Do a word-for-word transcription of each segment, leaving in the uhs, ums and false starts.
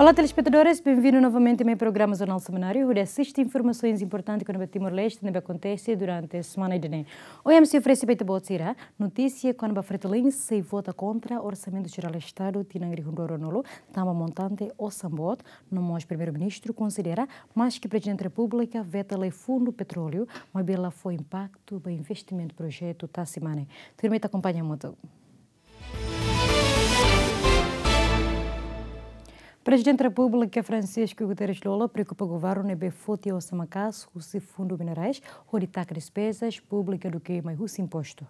Olá, telespetadores, benvindu novamente mai programa Jornál Semanáriu, hodi asiste informasoens importantes kona-ba Timor-Leste ne'ebé akontese durante semana ida-ne'e. Ohin ami sei oferese ba ita-boot sira notísia kona-ba Fretilin sei vota kontra Orsamentu Jerál Estadu tinan rihun rua ruanulu, tanba montante osan boot, no mós Primeiru-Ministru konsidera, maske Prezidente Repúblika veta lai fundu petróleu, maibé la fó impaktu ba investimentu projetu tasi mane. Tuirmai ita akompaña hamutuk. Prezidente Repúblika Francisco Guterres Lú Olo preokupa governu ne'ebé foti osan maka'as husi Fundu Minerais hodi taka despezas públikas duké mai husi impostu.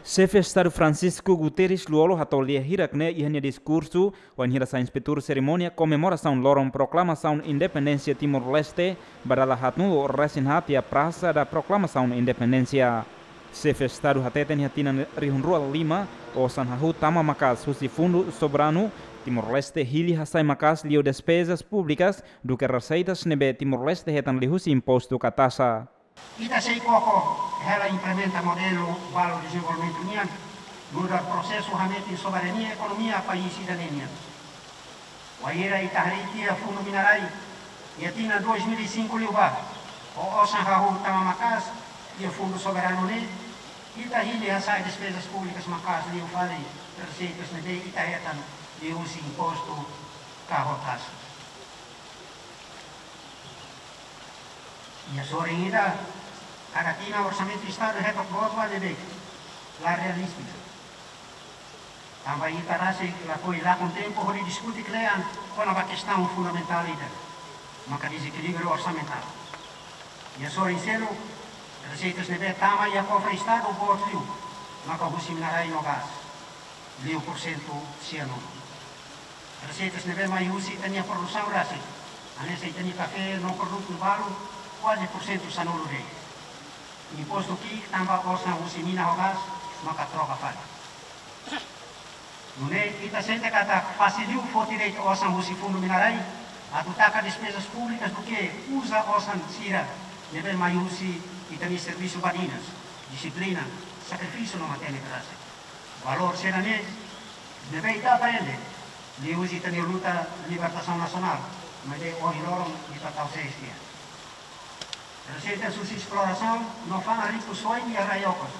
Xefe Estadu Francisco Guterres Lú Olo hato'o lia hirak-ne'e iha nia diskursu wainhira sai inspetór serimónia komemorasaun loron proklamasaun independénsia Timor-Leste ba dala haatnulu resin haat iha Praça da Proclamação Independência. Xefe Estadu hateten iha tinan rihun rua lima, osan hahú tama maka'as husi Fundu Soberanu Timor-Leste hili hasa'e maka'as liu despezas públikas duké reseitas ne'ebé Timor-Leste hetan liuhusi impostu ka taxa. Ita sei koko hela implementa modelu balu dezenvolvimentu nian, nu'udar prosesu hametin soberania ekonomia país ida-ne'e nian. Wainhira ita harii tiha Fundu Minerais iha tinan dois mil e cinco liubá, ho osan hahú tama maka'as iha Fundu Soberanu ne'e, ita hili hasa'e despezas públikas maka'as liu fali reseitas ne'ebé ita hetan liuhusi impostu ka ho taxa. Iha sorin ida, kada tinan Orsamentu Estadu hetok boot ba beibeik, la realístika. Tanba ita rasik lakohi lakon tempu hodi diskute kle'an kona-ba kestaun fundamentál ida, maka dezekilíbriu orsamentál. Iha sorin seluk, reseitas ne'ebé tama iha kofre Estadu boot liu maka husi minerais no gás, liu porsentu sianulu. Reseitas ne'ebé mai husi ita-nia produsaun rasik, hanesan ita-nia kafé no produtu balu, kuaze porsentu sanulu de'it. Impostu ki'ik tanba osan husi mina ho gás maka troka fali. Nune'e ita sente katak fase liu foti de'it osan husi Fundu Minerais atu taka despezas públikas duké uza osan sira ne'ebé mai husi ita-nia servisu badinas, dixiplina, sakrifísiu no matenek rasik. Valór sira-ne'e ne'ebé ita aprende liuhusi ita-nia luta libertasaun nasionál, maibé ohin loron ita tau sees tiha. Reseitas husi esplorasaun no fa'an rikusoin iha rai-okos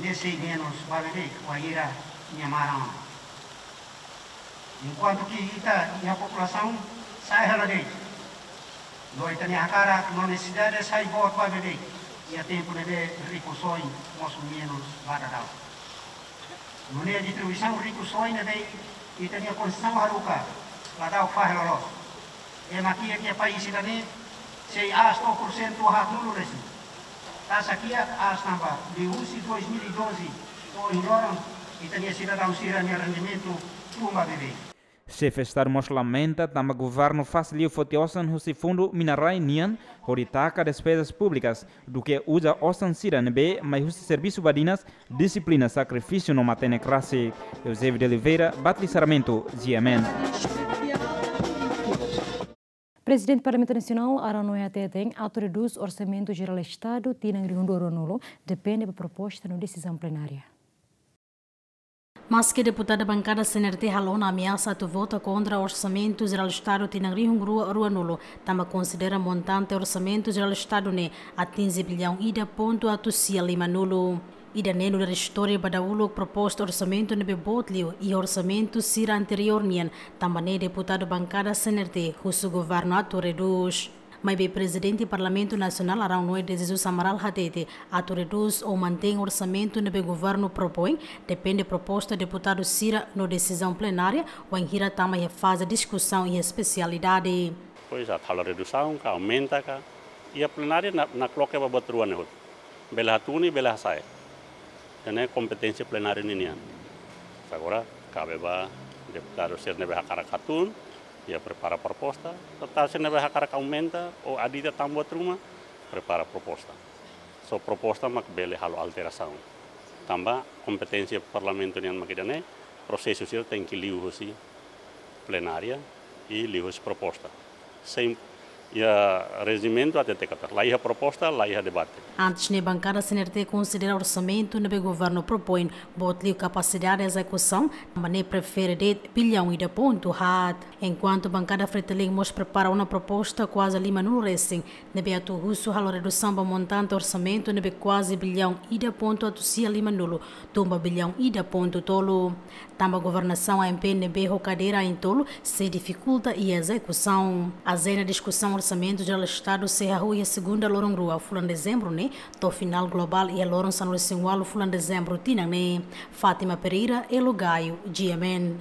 ne'e sei menus ba beibeik wainhira nia maran ona. Enkuantu ke ita-nia populasaun sa'e hela de'it, no ita-nia hakarak no nesesidade sai boot ba beibeik iha tempu ne'ebé rikusoin mosu menus ba daudaun. Nune'e distribuisaun rikusoin ne'ebé ita-nia Konstituisaun haruka la da'uk fahe loloos. Ema kiak iha país ida-ne'e sei aas to'o porsentu haatnulu resin. Taxa kiak aas tanba liuhusi dois mil e doze to'o ohin loron ita-nia sidadaun sira-nia rendimentu tun ba beibeik. Xefe Estadu mós lamenta tanba governu fase liu foti osan husi Fundu Minerais nian hodi taka despezas públikas duké uza osan sira ne'ebé mai husi servisu badinas, dixiplina, sakrifísiu no matenek rasik. Eusébio de Oliveira, Batli Sarmento, G M N. Prezidente Parlamentu Nasionál, Arão Noé hateten, atu redús Orsamentu Jerál Estadu tinan rihun rua ruanulu depende ba proposta no desizaun plenária. Maske deputadu bankada C N R T halo ona ameasa atu vota kontra Orsamentu Jerál Estadu tinan rihun rua ruanulu, tanba konsidera montante Orsamentu Jerál Estadu ne'e atinje biliaun ida pontu atus sia limanulu. Ida-ne'e nu'udar istória ba dahuluk proposta orsamentu ne'ebé boot liu iha orsamentu sira anteriór nian, tanba ne'e deputadu bankada C N R T husu governu atu redús. Maibé Prezidente Parlamentu Nasionál, Arão Noé de Jesus Amaral hatete, atu redús ou mantein orsamentu ne'ebé governu propoin depende proposta deputadu sira no desizaun plenária, wainhira tama iha faze diskusaun iha espesialidade. Pois, atu halo redusaun ka aumenta ka, iha plenária na, nakloke ba buat rua ne'e hotu. Bele hatún i bele hasa'e. Ida-ne'e kompeténsia plenária ninian. Agora, kabe ba deputadu sira ne'ebé hakarak hatún, iha prepara proposta. Deputadu sira ne'ebé hakarak aumenta ou adita tan buat ruma, prepara proposta. Só proposta mak bele halo alterasaun. Tanba kompeténsia Parlamentu nian mak ida-ne'e, prosesu sira tenke liuhusi plenária i liuhusi proposta. Sem Iha rejimentu hatete katak la iha proposta, la iha debate. Antes ne'e, bankada C N R T konsidera orsamentu ne'ebé governu propoin boot liu kapasidade ezekusaun, maibé prefere de'it billaun ida pontu haat. Enkuantu bankada Fretilin mós prepara ona proposta kuaze limanulu resin, ne'ebé atu husu halo redusaun ba montante orsamentu ne'ebé kuaze billaun ida pontu atus sia limanulu, tun ba billaun ida pontu tolu. Tanba governasaun A M P ne'ebé ho kadeira ain tolu sei difikulta iha ezekusaun. Ajenda diskusaun Orsamentu Jerál Estadu sei hahú iha segunda loron rua fulan Dezembru ne'e, to'o finál globál iha loron sanulu-resin-ualu fulan Dezembru tinan ne'e. Fátima Pereira, Elo Gaio, G M N.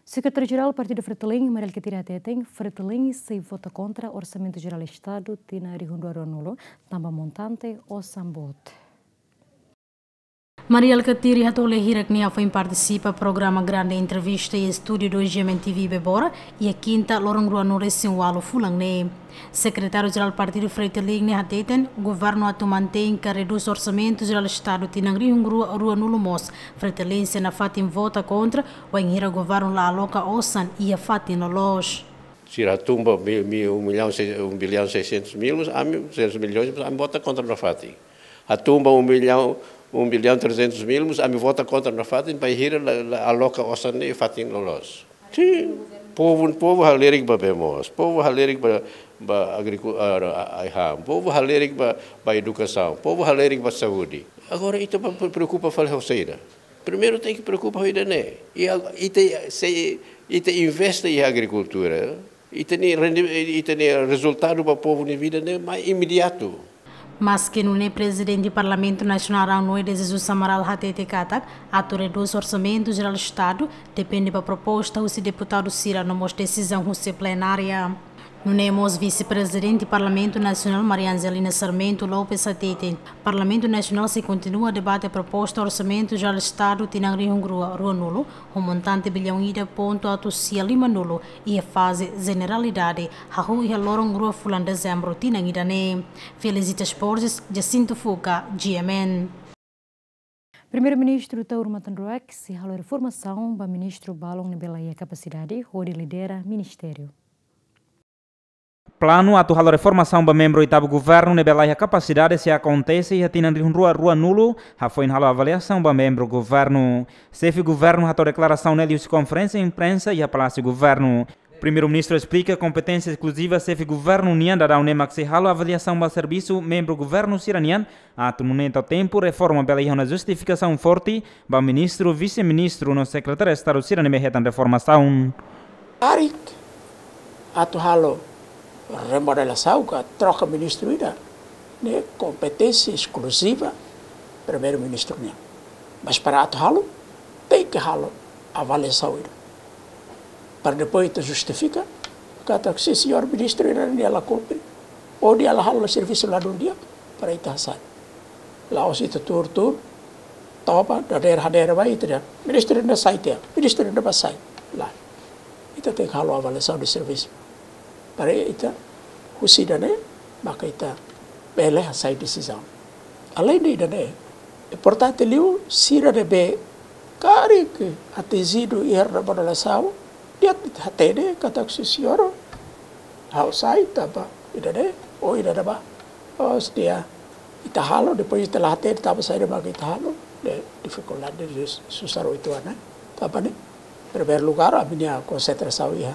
Sekretáriu Jerál Partidu Fretilin, Mari Alkatiri hateten, Fretilin sei vota kontra Orsamentu Jerál Estadu tinan rihun rua ruanulu, tanba montante osan boot. Mari Alkatiri hato'o lee hirak ne'e hafoin partisipa programa Grande Entrevista iha estúdiu dois G M N T V Bebora, iha kinta loron ruanulu-resin-ualu fulan ne'e. Sekretáriu Jerál Partidu Fretilin ne'e hateten, governu atu mantein ka redús Orsamentu Jerál Estadu tinan rihun rua ruanulu mós, Fretilin sei nafatin vota kontra, wainhira governu la aloka osan iha fatin loloos. Sira hatun ba mi-, mi-, um milhão, sei-, um bilhão seiscentos mil, mas ami, seiscentos milhões, mas ami vota kontra nafatin. Hatun ba um milhão, um bilhão trezentos mil, mas ami vota kontra nafatin, bainhira la, la aloka osan ne'e iha fatin loloos. Sin, povu, povu halerik ba bee moos, povu halerik ba, ba agriku-, ah, ah, ah, ham, povu halerik ba, ba edukasaun, povu halerik ba saúde. Agora, ita ba pre-, preokupa fali ho saida? Primeiru tenke preokupa ho ida-ne'e. I al-, ita, se ita investe iha agrikultura, ita-nia rendi-, ita-nia rezultadu ba povu nia vida ne'e mai imediatu. Maske nune'e, Prezidente Parlamentu Nasionál Rão Noé de Jesus Amaral hatete katak, atu redús Orsamentu Jerál Estadu, depende ba proposta husi deputadu sira no mós desizaun husi plenária. Nune'e mós Vise-Prezidente Parlamentu Nasionál Maria Angelina Sarmento Lopes hateten, Parlamentu Nasionál sei kontinua debate proposta Orsamentu Jerál Estadu tinan rihun rua ruanulu, ho montante billaun ida pontu atus sia limanulu, iha faze jeneralidade, hahú iha loron rua fulan Dezembru tinan ida-ne'e. Felicitas Borges, Jacinto Fuca, G M N. Primeiru-Ministru Taur Matan Ruak sei halo reformasaun ba ministru balun ne'ebé la iha kapasidade hodi lidera ministériu. Planu atu halo reformasaun ba membru oitavu governu ne'ebé la iha kapasidade sei akontese iha tinan rihun rua ruanulu, hafoin halo avaliasaun ba membru governu. Xefe governu hato'o deklarasaun ne'e liuhusi konferénsia imprensa iha Palásiu Governu. Primeiru-Ministru esplika kompeténsia eskluziva xefe governu nian daudaun ne'e mak sei halo avaliasaun ba servisu membru governu sira-nian, atu nune'e tau tempu reforma bele iha ona justifikasaun forte ba ministru, vise-ministru no sekretáriu Estadu sira ne'ebé hetan reformasaun. Karik atu halo remodelasaun ka troka ministru ida, ne'e kompeténsia eskluziva Primeiru-Ministru nian. Mas para atu halo, tenke halo avaliasaun ida. Para depois ita justifika, katak se señór ministru ida-ne'e la kumpre, ou nia la halo servisu ladún di'ak, para ita hasai. La'ós ita tuur-tuur, toba, dadeer hadeer ba ita dehan, ministru ida-ne'e sai tiha, ministru ida-ne'e bá sai. Lae. Ita tenke halo avaliasaun de servisu. Para ita, husi ida-ne'e, maka ita bele hasai desizaun. Aleinde ida-ne'e, importante liu sira ne'ebé karik atinjidu iha remodelasaun, nia hatene katak se señór, ha'u sai tanba ida-ne'e, ou ida-ne'ebá. Ou se nia, ita halo, depois ita la hatene tanba saida mak ita halo, ne'e difikuldade, susar uitoan, ne'e. Tanba ne'e, primeiru lugar, ami-nia konsentrasaun iha,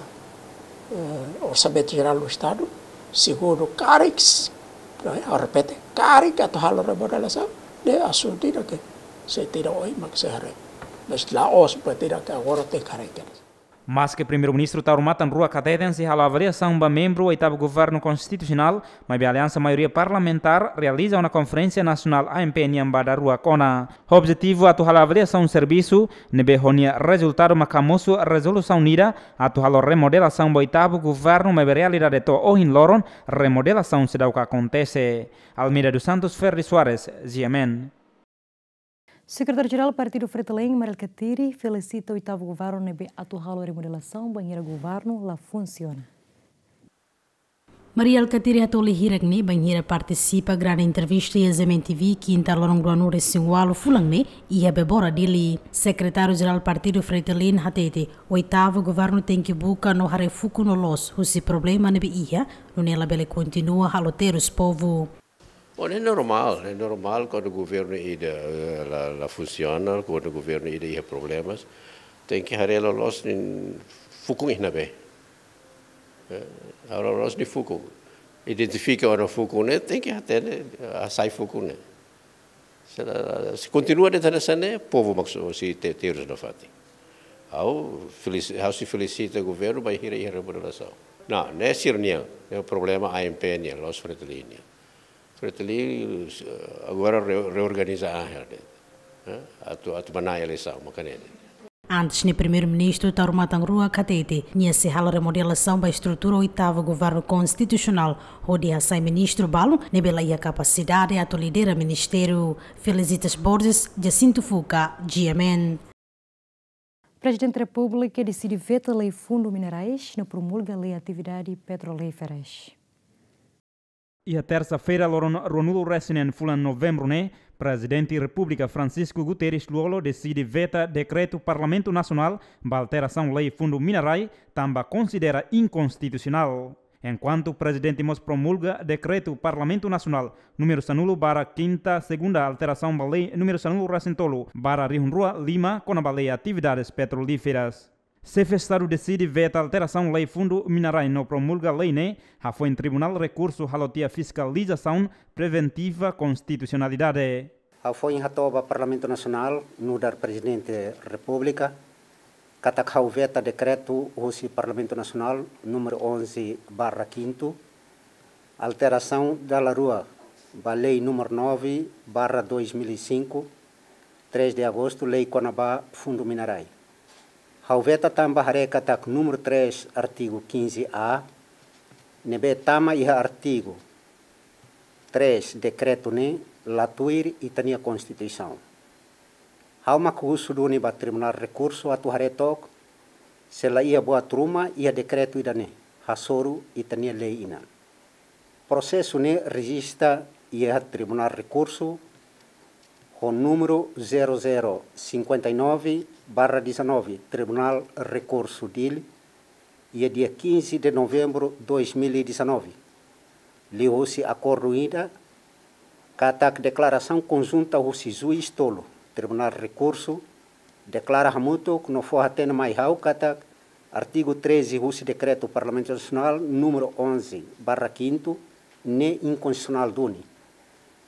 eh, Orsamentu Jerál do Estadu. Segundu, karik, eh, ha'u repete, karik atu halo remodelasaun, ne'e asuntu ida ke sei tira oin mak sei haree. Mas la'ós buat ida ke agora tenke haree kedas. Maske Primeiru-Ministru Taur Matan Ruak hateten sei halo avaliasaun ba membru oitavu governu konstitusionál, maibé Aliansa Maioria Parlamentár realiza ona Konferénsia Nasionál A M P nian ba daruak ona. Objetivu atu halo avaliasaun servisu, ne'ebé ho nia rezultadu mak hamosu rezolusaun ida atu halo remodelasaun ba oitavu governu, maibé realidade to'o ohin loron remodelasaun seidauk akontese. Almeida dos Santos, Ferdi Soares, G M N. Sekretáriu Jerál Partidu Fretilin, Mari Alkatiri, felisita oitavu governu ne'ebé atu halo remodelasaun bainhira governu la funsiona. Mari Alkatiri hato'o lia hirak ne'e bainhira partisipa grande entrevista iha Z M N T V, kinta loron ruanulu-resin-ualu fulan ne'e, iha Bebora, Dili. Sekretáriu Jerál Partidu Fretilin hatete, oitavu governu tenke buka no haree fuuk no loos husi problema ne'ebé iha, nune'e labele kontinua halo terus povu. Bom, é normal, é normal quando o governo ida, eh, la, la funciona, quando o governo ida iha problemas, tenke haree loloos nia fukun iha ne'ebé. Eh, haree loloos nia fukun. Identifika ona fukun ne'e, tenke hatene, hasai fukun ne'e. Se la, se kontinua de'it hanesan ne'e, povu mak sei te-, terus nafatin. Ha'u feliz-, ha'u sei felisita governu bainhira iha remodelasaun. Não, ne'e sira-nian, ne'e problema A M P nian, la'ós Fretilin nian. Fretilin, eh, agora re-, reorganiza an hela de'it, eh, atu, atu manán eleisaun, maka ne'e de'it. Antes ne'e Primeiru-Ministru Taur Matan Ruak hatete, nia sei halo remodelasaun ba estrutura oitavu governu konstitusionál, hodi hasai ministru balu ne'ebé la iha kapasidade atu lidera ministériu. Felicitas Borges, Jacinto Fuca, G M N. Prezidente Repúblika deside veta lei fundu minerais no promulga lei atividade petrolíferas. Iha tersa-feira, loron ruanulu-resin-neen fulan Novembru ne'e, Prezidente Repúblika Francisco Guterres Lú-Olo deside veta dekretu Parlamentu Nasionál ba alterasaun lei fundu minerais, tanba konsidera inkonstitusionál. Enkuantu Prezidente mós promulga dekretu Parlamentu Nasionál númeru sanulu barra kinta, segunda alterasaun ba lei númeru sanulu-resin-tolu barra rihun rua lima, kona-ba lei atividades petrolíferas. Xefe Estadu deside veta alterasaun lei fundu minerais no promulga lei ne'e, hafoin Tribunál Rekursu halo tiha fiskalizasaun preventiva konstitusionalidade. Hafoin hato'o ba Parlamentu Nasionál, nu'udar Prezidente Repúblika, katak ha'u veta dekretu husi Parlamentu Nasionál númeru onze barra kinta, alterasaun dala rua ba lei númeru nove barra dois mil e cinco, três de agosto, lei kona-ba fundu minerais. Ha'u veta tanba haree katak númeru três, artigu quinze A, ne'ebé tama iha artigu três dekretu ne'e, la tuir ita-nia Konstituisaun. Ha'u mak husu duni ba Tribunál Rekursu atu haree took, se la iha buat ruma iha dekretu ida-ne'e, hasoru ita-nia lei Inan. Prosesu ne'e rejista iha Tribunál Rekursu ho númeru zero zero cinquenta e nove barra dezanove, Tribunál Rekursu Dili, iha dia quinze de novembro dois mil e dezanove. Liuhusi akordu ida, katak deklarasaun konjunta husi juís tolu, Tribunál Rekursu, deklara hamutuk no fó-hatene mai ha'u katak artigu treze husi Dekretu Parlamentu Nasionál númeru onze barra kinta ne'e inkonstitusionál duni,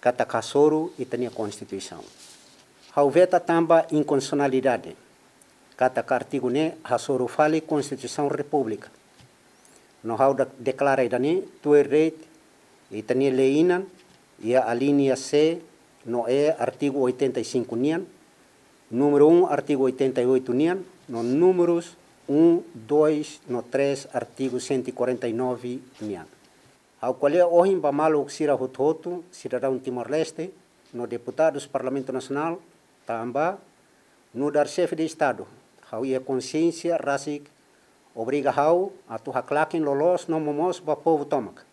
katak hasoru ita-nia Konstituisaun. Ha'u veta tanba inkonstitusionalidade, katak artigu ne'e hasoru fali Konstituisaun Repúblika. No ha'u da-, deklara ida-ne'e tuir de'it ita-nia lei Inan, iha alínea C no E, artigu oitenta e cinco nian, númeru um, artigu oitenta e oito nian, no númerus um, dois no três, artigu cento e quarenta e nove nian. Ha'u ko'alia ohin ba maluk sira hotu-hotu, sidadaun Timor-Leste, no deputadus Parlamentu Nasionál, tanba, nu'udar Xefe de Estadu, ha'u iha konxiénsia rasik obriga ha'u atu haklaken loloos no momoos ba povu tomak.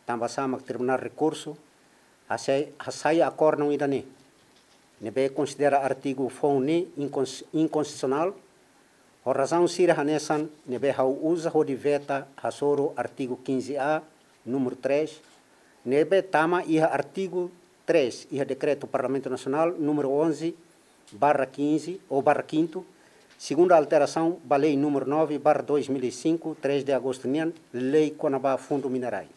Tanba sá mak Tribunál Rekursu hasai, hasai akordu ida-ne'e, ne'ebé konsidera artigu foun ne'e inkons-, inkonstitusionál, ho razaun sira hanesan ne'ebé ha'u uza hodi veta hasoru artigu quinze A, númeru três, ne'ebé tama iha artigu três iha Dekretu Parlamentu Nasionál númeru onze barra quinze ou barra kinta, segunda alterasaun ba lei númeru nove barra dois mil e cinco, três de agosto nian, lei kona-ba fundu minerais.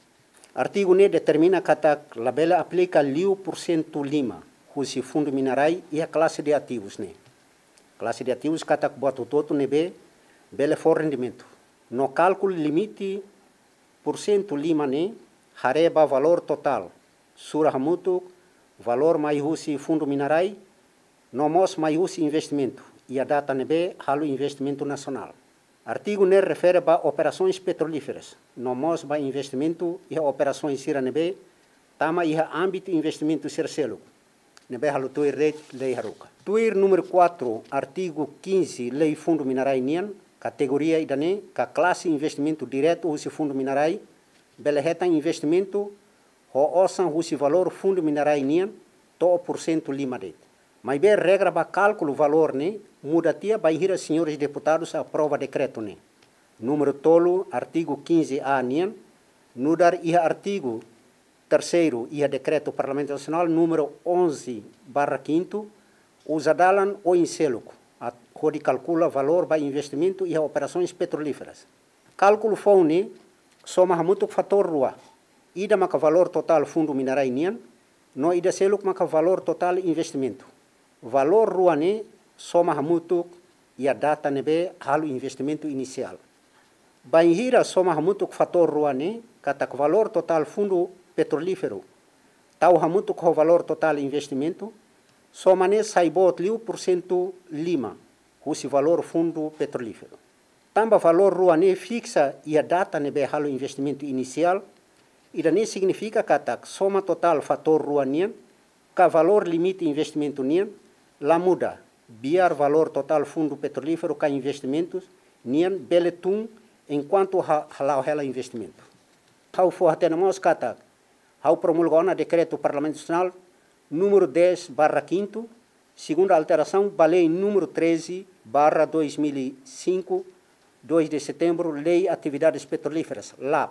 Artigu ne'e determina katak labele aplika liu porsentu lima husi fundu minerais iha klase de ativus ne'e. Klase de ativus katak buat hotu-hotu ne'ebé bele fó rendimentu. No kálkulu limite porsentu lima ne'e haree ba valór totál, sura hamutuk valór mai husi fundu minerais, no mós mai husi investimentu, iha data ne'ebé halo investimentu nasionál. Artigu ne'e refere ba operasoens petrolíferas, no mós ba investimentu iha operasoens sira ne'ebé tama iha ámbitu investimentu sira seluk, ne'ebé halo tuir de'it lei haruka. Tuir númeru quatro, artigu quinze, lei fundu minerais nian, kategoria ida-ne'e ka klase investimentu diretu husi fundu minerais, bele hetan investimentu ho osan husi valór fundu mina-rai nian to'o pursentu lima de'it. Maibé regra ba kálkulu valór ne'e muda tiha bainhira señores deputadus aprova dekretu ne'e. Númeru tolu, artigu quinze A nian, nu'udar iha artigu terseiru iha dekretu Parlamentu Nasionál númeru onze barra quinto, uza dalan oin seluk, at-, hodi kalkula valór ba investimentu iha operasoens petrolíferas. Kálkulu foun ne'e soma hamutuk fatór rua. Ida maka valór totál fundu mina-rai nian, no ida seluk maka valór totál investimentu. Valór rua ne'e soma hamutuk iha data ne'ebé halo investimentu inisiál. Bainhira soma hamutuk fatór rua ne'e, katak valór totál fundu petrolíferu tau hamutuk ho valór totál investimentu, soma ne'e sai boot liu pursentu lima husi valór fundu petrolíferu. Tanba valór rua ne'e fiksa iha data ne'ebé halo investimentu inisiál, ida-ne'e signifika katak soma totál fatór rua nian, ka valór limite investimentu nian, la muda, biar valór totál fundu petrolíferu ka investimentus nian bele tun enkuantu ha-, hala'o hela investimentu. Ha'u fó-hatene mós katak ha'u promulga ona dekretu Parlamentu Nasionál númeru dez barra quinto, segunda alterasaun ba lei númeru treze barra dois mil e cinco, dois de setembro, Lei Atividades Petrolíferas, LAP.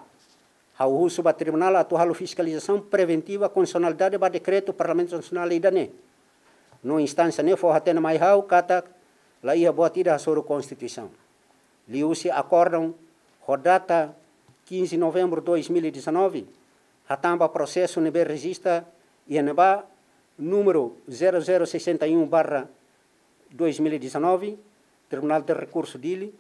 Ha'u husu ba tribunál atu halo fiskalizasaun preventiva konstitusionalidade ba dekretu Parlamentu Nasionál ida-ne'e. No instánsia ne'e fó-hatene mai ha'u katak la iha buat ida hasoru Konstituisaun. Liuhusi akórdon ho data quinze novembro dois mil e dezanove, hatán ba prosesu ne'ebé rejista iha ne'ebá númeru zero zero sessenta e um barra dois mil e dezanove, Tribunál de Rekursu Dili,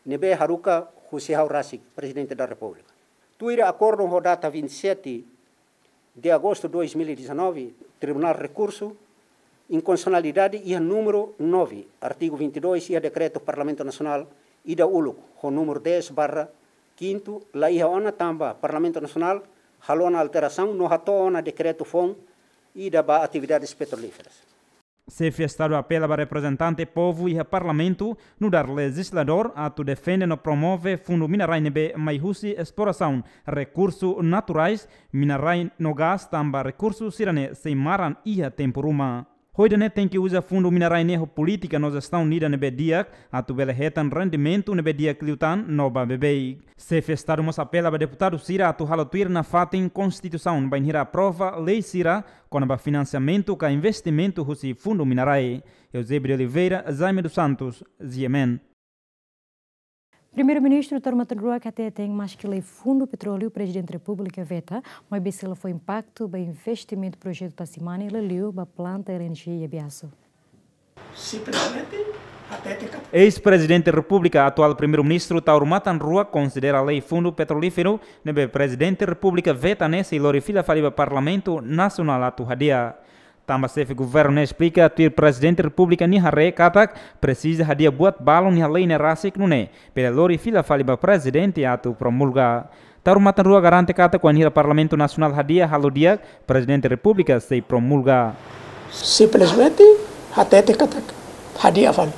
ne'ebé haruka husi ha'u rasik, Prezidente da Repúblika. Tuir akórdon ho data vinte e sete de agosto dois mil e dezanove, Tribunál Rekursu Inkonstitusionalidade iha númeru nove, artigu vinte e dois, iha dekretu Parlamentu Nasionál ida uluk, ho númeru dez barra quinto, la iha ona tanba Parlamentu Nasionál halo ona alterasaun no hato'o ona dekretu foun ida ba atividades petrolíferas. Xefe Estadu apela ba reprezentante povu iha Parlamentu, nu'udar lejizladór, atu defende no promove fundu mina-rai ne'ebé mai husi esplorasaun rekursu naturais, mina-rai no gás, tanba rekursu sira-ne'e sei maran iha tempu ruma. Ho ida-ne'e tenke uza fundu mina-rai ne'e ho polítika no jestaun ida ne'ebé di'ak, atu bele hetan rendimentu ne'ebé di'ak liután no ba beibeik. Xefe Estadu mós apela ba deputadu sira atu halo tuir nafatin Konstituisaun bainhira aprova lei sira kona-ba finansiamentu ka investimentu husi fundu mina-rai. Eusébio de Oliveira, Jaime dos Santos, G M N. Primeiru-Ministru Taur Matan Ruak hateten maski lei Fundu Petróleu Prezidente Repúblika veta, maibé sei la fó impaktu ba investimentu projetu Tasimani, liuliu ba planta L N G iha Biasu. Simplesmente hatete katak Eis-Prezidente Repúblika, atuál Primeiru-Ministru Taur Matan Ruak konsidera lei Fundu Petrolíferu ne'ebé Prezidente Repúblika veta ne'e sei lori fila fali ba Parlamentu Nasionál atu hadi'a. Tanba Xefe Governu ne'e esplika tuir Prezidente Repúblika nia haree katak presiza hadi'a buat balun iha lei ne'e rasik nune'e bele lori fila fali ba Prezidente atu promulga. Taur Matan Ruak garante katak wainhira Parlamentu Nasionál hadi'a halo di'ak, Prezidente Repúblika sei promulga. Simplesmente hatete katak hadi'a fali.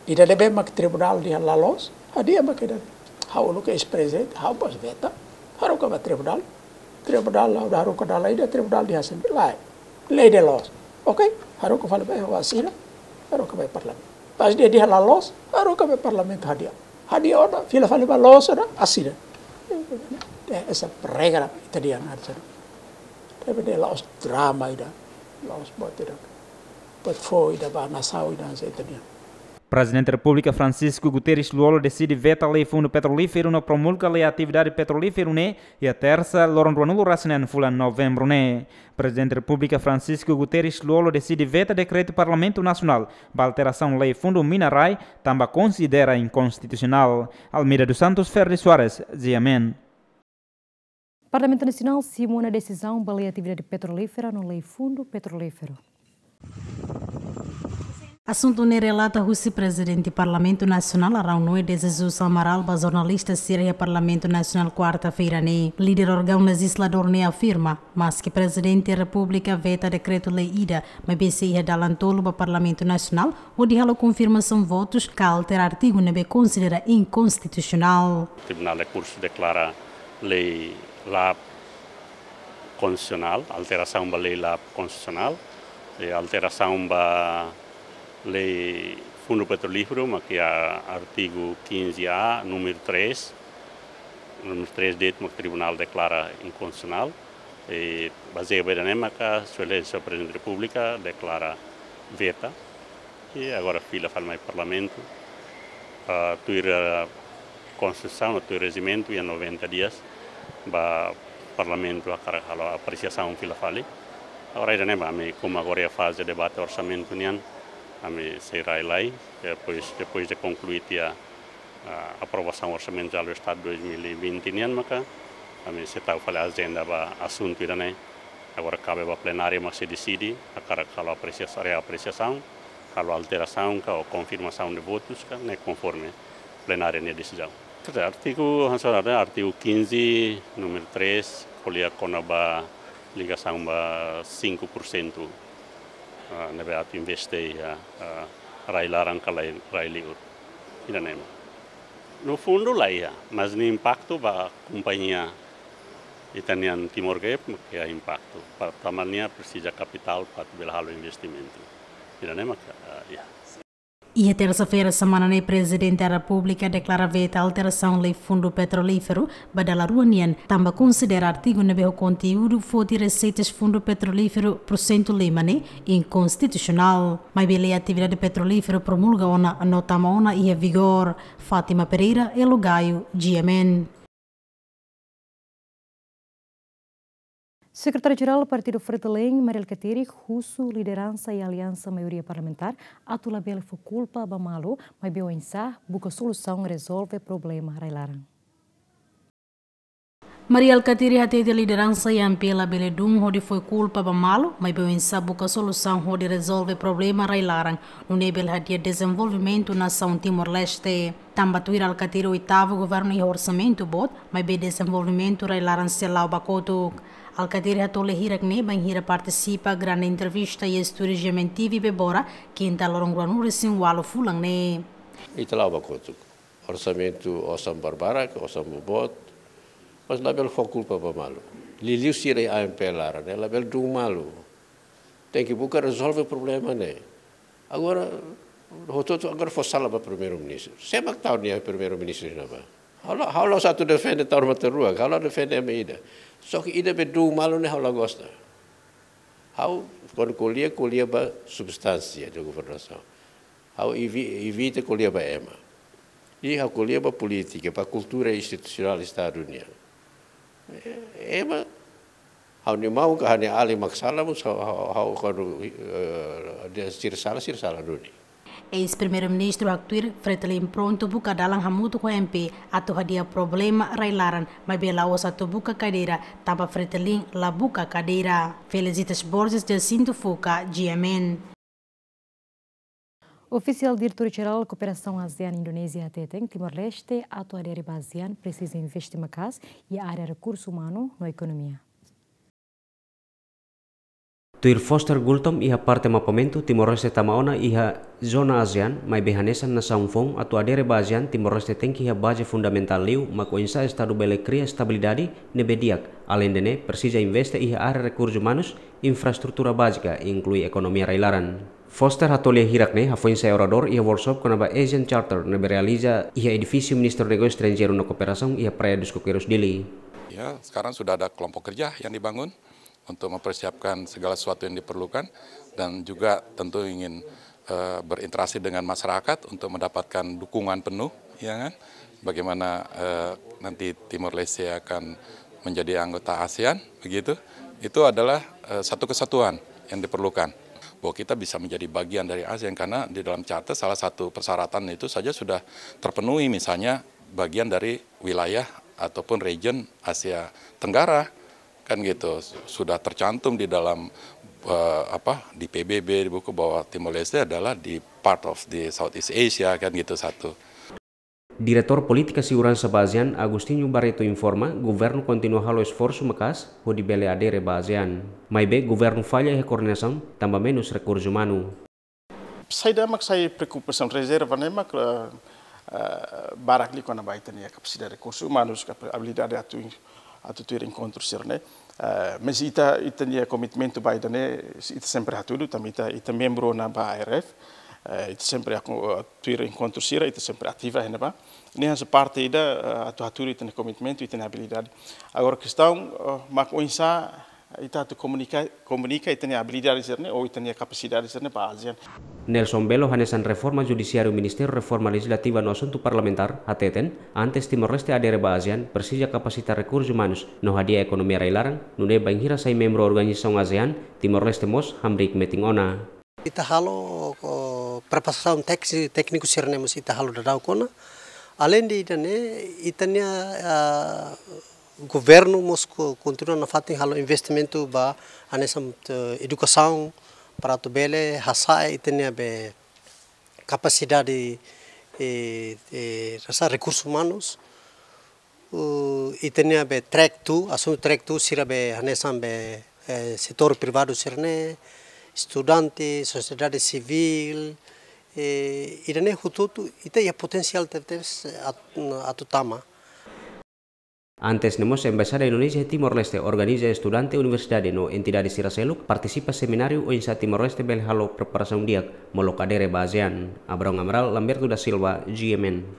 Ida ne'ebé mak tribunál dehan la loos, hadi'a mak ida. Ha'u uluk eis-prezidente, ha'u bos veta, haruka ba tribunál. Tribunál la haruka dala ida, tribunál dehan sempre lae. Lei ne'e loos. Oke, haruka fali ba, ha'u asina, haruka ba Parlamentu. Pas dia dehan la loos, haruka ba Parlamentu hadi'a. Hadi'a ona, fila fali ba loos ona, asina. Eh, esa regra ita dehan hanesan ne'e. Tapi ne'e la'ós drama ida, la'ós buat ida. Buat foun ida ba nasaun ida hanesan ita dehan. Prezidente Repúblika Francisco Guterres Lú-Olo deside veta lei Fundu Petrolíferu no promulga lei atividade petrolíferu ne'e iha tersa, loron ruanulu-resin-neen fulan Novembru ne'e. Prezidente Repúblika Francisco Guterres Lú-Olo deside veta dekretu Parlamentu Nasionál ba alterasaun lei Fundu Mina-Rai, tanba konsidera inkonstitusionál. Almeida dos Santos, Ferdi Soares, G M N. Parlamentu Nasionál simu ona desizaun ba lei atividade petrolífera no lei Fundu Petrolíferu. Asuntu ne'e relata husi Prezidente Parlamentu Nasionál, Arão Noé de Jesus Amaral, ba jornalista sira iha Parlamentu Nasionál, kuarta-feira ne'e. Líder órgaun lejizladór ne'e afirma, maski Prezidente Repúblika veta dekretu-lei ida, maibé sei iha dalan tolu ba Parlamentu Nasionál, hodi halo konfirmasaun votus ka altera artigu ne'ebé konsidera inkonstitusionál. Tribunál Rekursu deklara lei La'ós konstitusionál, alterasaun ba lei la'ós konstitusionál, eh, alterasaun ba lei Fundu Petrolíferu, mak iha artigu quinze A, númeru três, númeru três de'it mak tribunál deklara inkonstitusionál, eh, bazeia ba ida-ne'e maka Sua Exelénsia Prezidente Repúblika deklara veta, i agora fila fali mai Parlamentu, ah, tuir, ah, Konstituisaun, tuir rejimentu, iha noventa dias ba Parlamentu hakarak halo apresiasaun fila fali. Agora ida-ne'e mak ami, komu agora iha faze debate orsamentu nian, ami sei rai lai, depois, depois de konklui tiha, ah, aprovasaun Orsamentu Jerál do Estadu dois mil e vinte nian maka ami sei tau fali ajenda ba asuntu ida-ne'e. Agora kabe ba plenária mak sei deside, hakarak halo apresiasaun, reapresiasaun, halo alterasaun ka ou konfirmasaun de votus ka, ne'e konforme plenária nia desizaun. Quer dizer, artigu, hanesan artigu quinze, númeru três, ko'alia kona-ba ligasaun ba cinco por cento, ah, ne'ebé atu investe iha, ah, rai-laran ka rai, rai-li'ur. Ida-ne'e mak. No fundu la iha, mas nia impaktu ba kompañia ita-nian Timor Gap, mak iha impaktu. Para tanba nia presiza kapitál para atu bele halo investimentu. Ida-ne'e mak, ah, iha. Iha tersa-feira semana ne'e, Prezidente da Repúblika deklara veta alterasaun lei Fundu Petrolíferu ba dala rua nian, tanba konsidera artigu ne'ebé ho konteúdu foti reseitas Fundu Petrolíferu porsentu lima ne'e inkonstitusionál. Maibé lei atividade petrolíferu promulga ona no tama ona iha vigór. Fátima Pereira, Elo Gaio, G M N. Sekretáriu-Jerál Partidu Fretilin, Mari Alkatiri, husu lideransa i aliansa maioria parlamentár atu labele fó kulpa ba malu, maibé oinsá buka solusaun rezolve problema rai-laran. Mari Alkatiri hatete lideransa I M P labele dún hodi fó kulpa ba malu, maibé oinsá buka solusaun hodi rezolve problema rai-laran, nune'e bele hadi'a dezenvolvimentu nasaun Timor-Leste. Tanba tuir Alkatiri oitavu governu iha orsamentu boot, maibé dezenvolvimentu rai-laran sei la'o ba kotuk. Alkatiri hato'o lia hirak ne'e bainhira partisipa grande entrevista iha estúdiu G M N T V Bebora, kinta loron ruanulu-resin-ualu fulan ne'e. Ita la'o ba kotuk. Orsamentu osan barbarak, osan boboot, mas labele fó kulpa ba malu. Liuliu sira iha I M P laran, ne'e labele dún malu. Tenke buka rezolve problema ne'e. Agora, hotu-hotu agora fó sala ba Primeiru-Ministru. Sé mak tau nia Primeiru-Ministru ne'ebá? Ha'u la, ha'u la'ós atu defende tau matan-ruak, ha'u la defende ema ida. Só ke ida be dún malu ne'e ha'u la gosta. Ha'u, kuandu ko'alia, ko'alia ba substánsia de governasaun. Ha'u evi-, evita ko'alia ba ema. I ha'u ko'alia ba polítika, ba kultura institusionál Estadu nian. E-, ema, ha'u-nia maun ka ha'u-nia alin mak sala, mas ha'u, ha'u, ha'u kuandu, eh, dehan sira sala, sira sala duni. Eis-Primeiru-Ministru haktuir Fretilin prontu buka dalan hamutuk ho M P atu hadi'a problema rai-laran, maibé la'ós atu buka kadeira, tanba Fretilin la buka kadeira. Felicitas Borges, Jacinto Fuca, G M N. Ofisiál Diretór-Jerál Kooperasaun ASEAN Indonézia hateten, Timor-Leste atu adere ba ASEAN presiza investe maka'as iha área rekursu umanu no ekonomia. Tuir Foster Goultom iha parte mapeamentu, Timor-Leste tama ona iha zona ASEAN, maibé hanesan nasaun foun atu adere ba ASEAN, Timor-Leste tenke iha baze fundamentál liu, mak oinsá Estadu bele kria estabilidade ne'ebé di'ak. Aleinde ne'e, presiza investe iha área rekursu umanus, infraestrutura bázika, inklui ekonomia rai-laran. Foster hato'o lia hirak ne'e hafoin sai oradór iha workshop kona-ba ASEAN Charter ne'ebé realiza iha edifísiu Ministériu Negósiu Estranjeiru no Kooperasaun iha Praia dos Coqueiros, Dili. Ya, sekarang sudah ada kelompok kerja yang dibangun untuk mempersiapkan segala sesuatu yang diperlukan dan juga tentu ingin, eh, berinteraksi dengan masyarakat untuk mendapatkan dukungan penuh, ya kan? Bagaimana, eh, nanti Timor Leste akan menjadi anggota ASEAN, begitu? Itu adalah, eh, satu kesatuan yang diperlukan. Bahwa kita bisa menjadi bagian dari ASEAN karena di dalam charter salah satu persyaratan itu saja sudah terpenuhi, misalnya bagian dari wilayah ataupun region Asia Tenggara, kan gitu. Sudah tercantum di dalam, eh, apa, di P B B, di buku bahwa Timor Leste adalah di part of the Southeast Asia, kan gitu, satu. Diretór Polítika Seguransa ba ASEAN, Agostinho Barreto, informa, governu kontinua halo esforsu maka'as hodi bele adere ba ASEAN. Maibé governu falla iha koordenasaun, tanba menus rekursu umanu. Saida mak sai preokupasaun, rezerva ne'e mak, eh, eh, barak liu kona-ba ita-nia kapasidade rekursu umanus, kapa-, abilidade atu in-, atu tuir enkontru sira-ne'e. Eh, mas ita, ita-nia komitmentu ba ida-ne'e, ita sempre hatudu, tanba ita, ita membru ona ba A R F, eh, ita sempre aku, eh, tuir enkontru sira, ita sempre ativa iha ne'ebá. Ne'e hanesan parte ida, eh, atu hatudu ita-nia komitmentu, ita-nia abilidade. Agora kestaun, eh, mak oinsá ita atu komunika, komunika ita-nia abilidade sira-ne'e, ou ita-nia kapasidade sira-ne'e ba ASEAN. Nelson Belo, hanesan reforma judisiáriu, Ministériu Reforma Lejizlativa no Asuntu Parlamentár, hateten, antes Timor-Leste adere ba ASEAN, presiza kapasita rekursus umanus no hadi'a ekonomia rai-laran, nune'e bainhira sai membru organizasaun ASEAN, Timor-Leste mós hamriik metin ona. Ita halo, ko, preparasaun téksi-, tékniku sira-ne'e mós ita halo daudaun ona. Aleinde ida-ne'e, ita-nia, ah, governu mós ko-, kontinua nafatin halo investimentu ba hanesan, eh, edukasaun para atu bele hasa'e ita-nia be kapasidade, eh, eh, rasa rekursus umanus. Uh, ita-nia be track tu, asuntu track tu sira be hanesan be, eh, setór privadu sira-ne'e, estudante, sosiedade sivíl, eh, ida-ne'e hotu-hotu, ita iha potensiál tebes at-, atu tama. Antes ne'e mós Embaixada Indonézia iha Timor-Leste organiza estudante universidade no entidade sira seluk partisipa semináriu oinsá Timor-Leste bele halo preparasaun di'ak molok adere ba ASEAN. Abrão Amaral, Lamberto da Silva, G M N.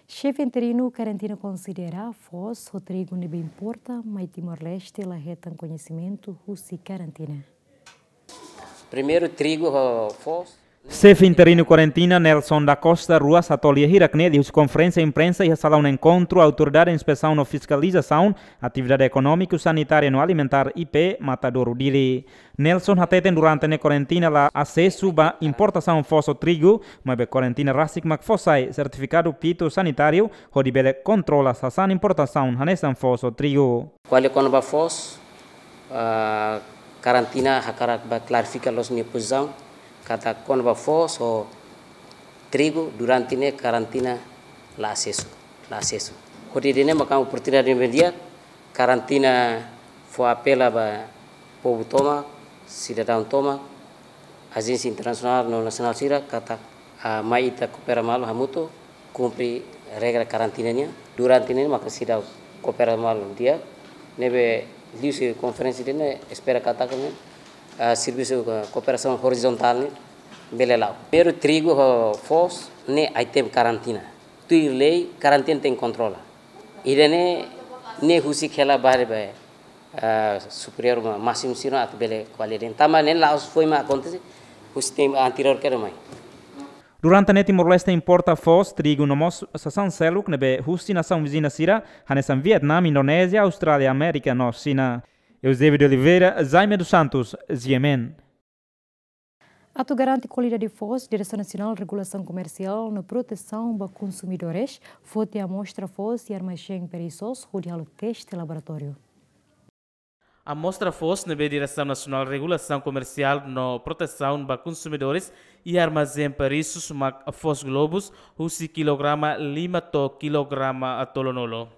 Xefe interinu karantina konsidera foos ho trigu ne'ebé importa mai Timor-Leste la hetan koñesimentu husi karantina. Primeiru trigu ho foos. Xefe interinu karantina Nelson da Costa Ruas hato'o lia hirak-ne'e liuhusi konferénsia imprensa iha salaun enkontru Autoridade Inspesaun no Fiskalizasaun Atividade Ekonómiku, Sanitária no Alimentár, I P, Matadouro, Dili. Nelson hateten durante ne'e karantina la asesu ba importasaun foos ho trigu, maibé karantina rasik mak fó sai sertifikadu fitossanitáriu hodi bele kontrola sasán importasaun hanesan foos ho trigu. Ko'alia kona-ba foos, ah, karantina hakarak ba klarifika loos nia pozisaun, katak kona-ba foos ho trigu durante ne'e karantina la asesu, la asesu. Hodi ida-ne'e maka oportunidade ne'ebé di'ak, karantina fó apela ba povu tomak, sidadaun tomak, ajénsia internasionál no nasionál sira katak, ah, mai ita koopera malu hamutuk, kumpre regra karantina nian. Durante ne'e maka seidauk koopera malu di'ak, ne'ebé liuhusi konferénsia ida-ne'e espera katak ne'e, ah, servisu, ah, kooperasaun orizontál ne'e bele la'o. Primeiru trigu ho foos ne'e item karantina. Tuir lei karantina tenke kontrola. Ida-ne'e, ne'e husik hela ba haree ba, ah, superiór ma-, másimu sira atu bele ko'alia de'it. Tanba ne'e la'ós foin mak akontese, husi tempu anteriór kedas mai. Durante ne'e Timor-Leste importa foos, trigu no mós sasán seluk ne'ebé husi nasaun viziña sira, hanesan Vietname, Indonézia, Austrália, Amérika no Xina. Eusébio de Oliveira, Jaime dos Santos, G M N. Atu garante kualidade foos, Diresaun Nasionál Regulasaun Komersiál no Protesaun ba Konsumidores foti amostra foos iha armazén Perissos hodi halo teste laboratóriu. Amostra foos ne'ebé Diresaun Nasionál Regulasaun Komersiál no Protesaun ba Konsumidores iha armazén Perissos mak foos Globus husi kilograma lima to'o kilograma tolunulu.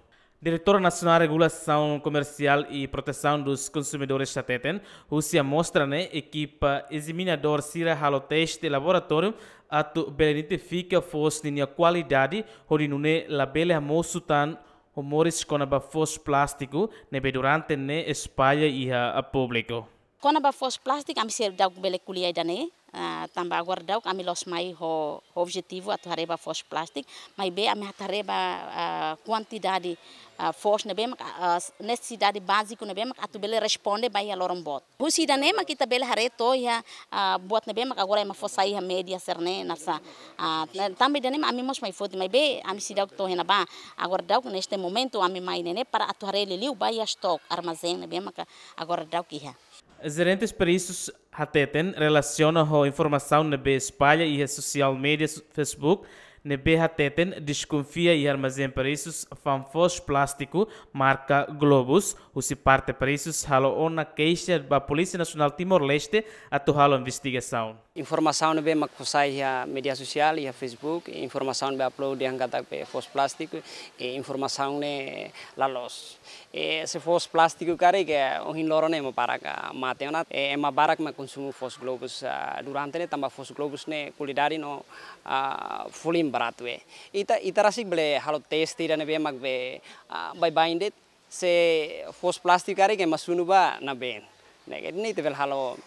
Diretora Nasionál Regulasaun Komersiál i Protesaun dos Konsumidores hateten, husi amostra ne'e ekipa ezaminadór sira halo teste laboratóriu atu bele identifika foos ninia kualidade, hodi nune'e labele hamosu tan rumores kona-ba foos plástiku ne'ebé durante ne'e espalla iha públiku. Kona-ba foos plástiku, ami seidauk bele ko'alia ida-ne'e, ah, tanba agora daudauk ami la'ós mai ho, ho objetivu atu haree ba foos plástiku, maibé ami atu haree ba, ah, kuantidade, ah, foos ne'ebé mak, ah, nesesidade báziku ne'ebé mak atu bele responde ba iha loron boot. Husi ida-ne'e mak ita bele haree to'o iha, ah, buat ne'ebé mak agora ema fó sai iha média sira-ne'e nasa. Ah, tanba ida-ne'e mak ami mós mai foti, maibé ami seidauk to'o iha ne'ebá. Agora daudauk neste momentu ami mai ne'e ne'e para atu haree liuliu ba iha stok armazén ne'ebé mak agora daudauk iha. Jerentes Perissos hateten relasiona ho informasaun ne'ebé espalla iha social media, Facebook, ne'ebé hateten deskonfia iha armazén Perissos fa'an foos plástiku marka Globus, husi parte Perissos halo ona keixa ba Polísia Nasionál Timor-Leste atu halo investigasaun. Informasaun ne'ebé mak fó sai iha média sosiál, iha Facebook, informasaun be upload dehan katak be foos plástiku, i informasaun ne'e la loos. I se foos plástiku karik, ohin loron ne'e ema barak, ah, mate ona, i ema barak mak konsumu foos Globus, ah, durante ne'e tanba foos Globus ne'e kualidade no, ah, folin baratu. Ita, ita rasik bele halo teste ida ne'ebé mak be, ah, baibain de'it, Se foos plástiku karik ema sunu ba ne'ebé. Ne'e, ne'e ita bele halo,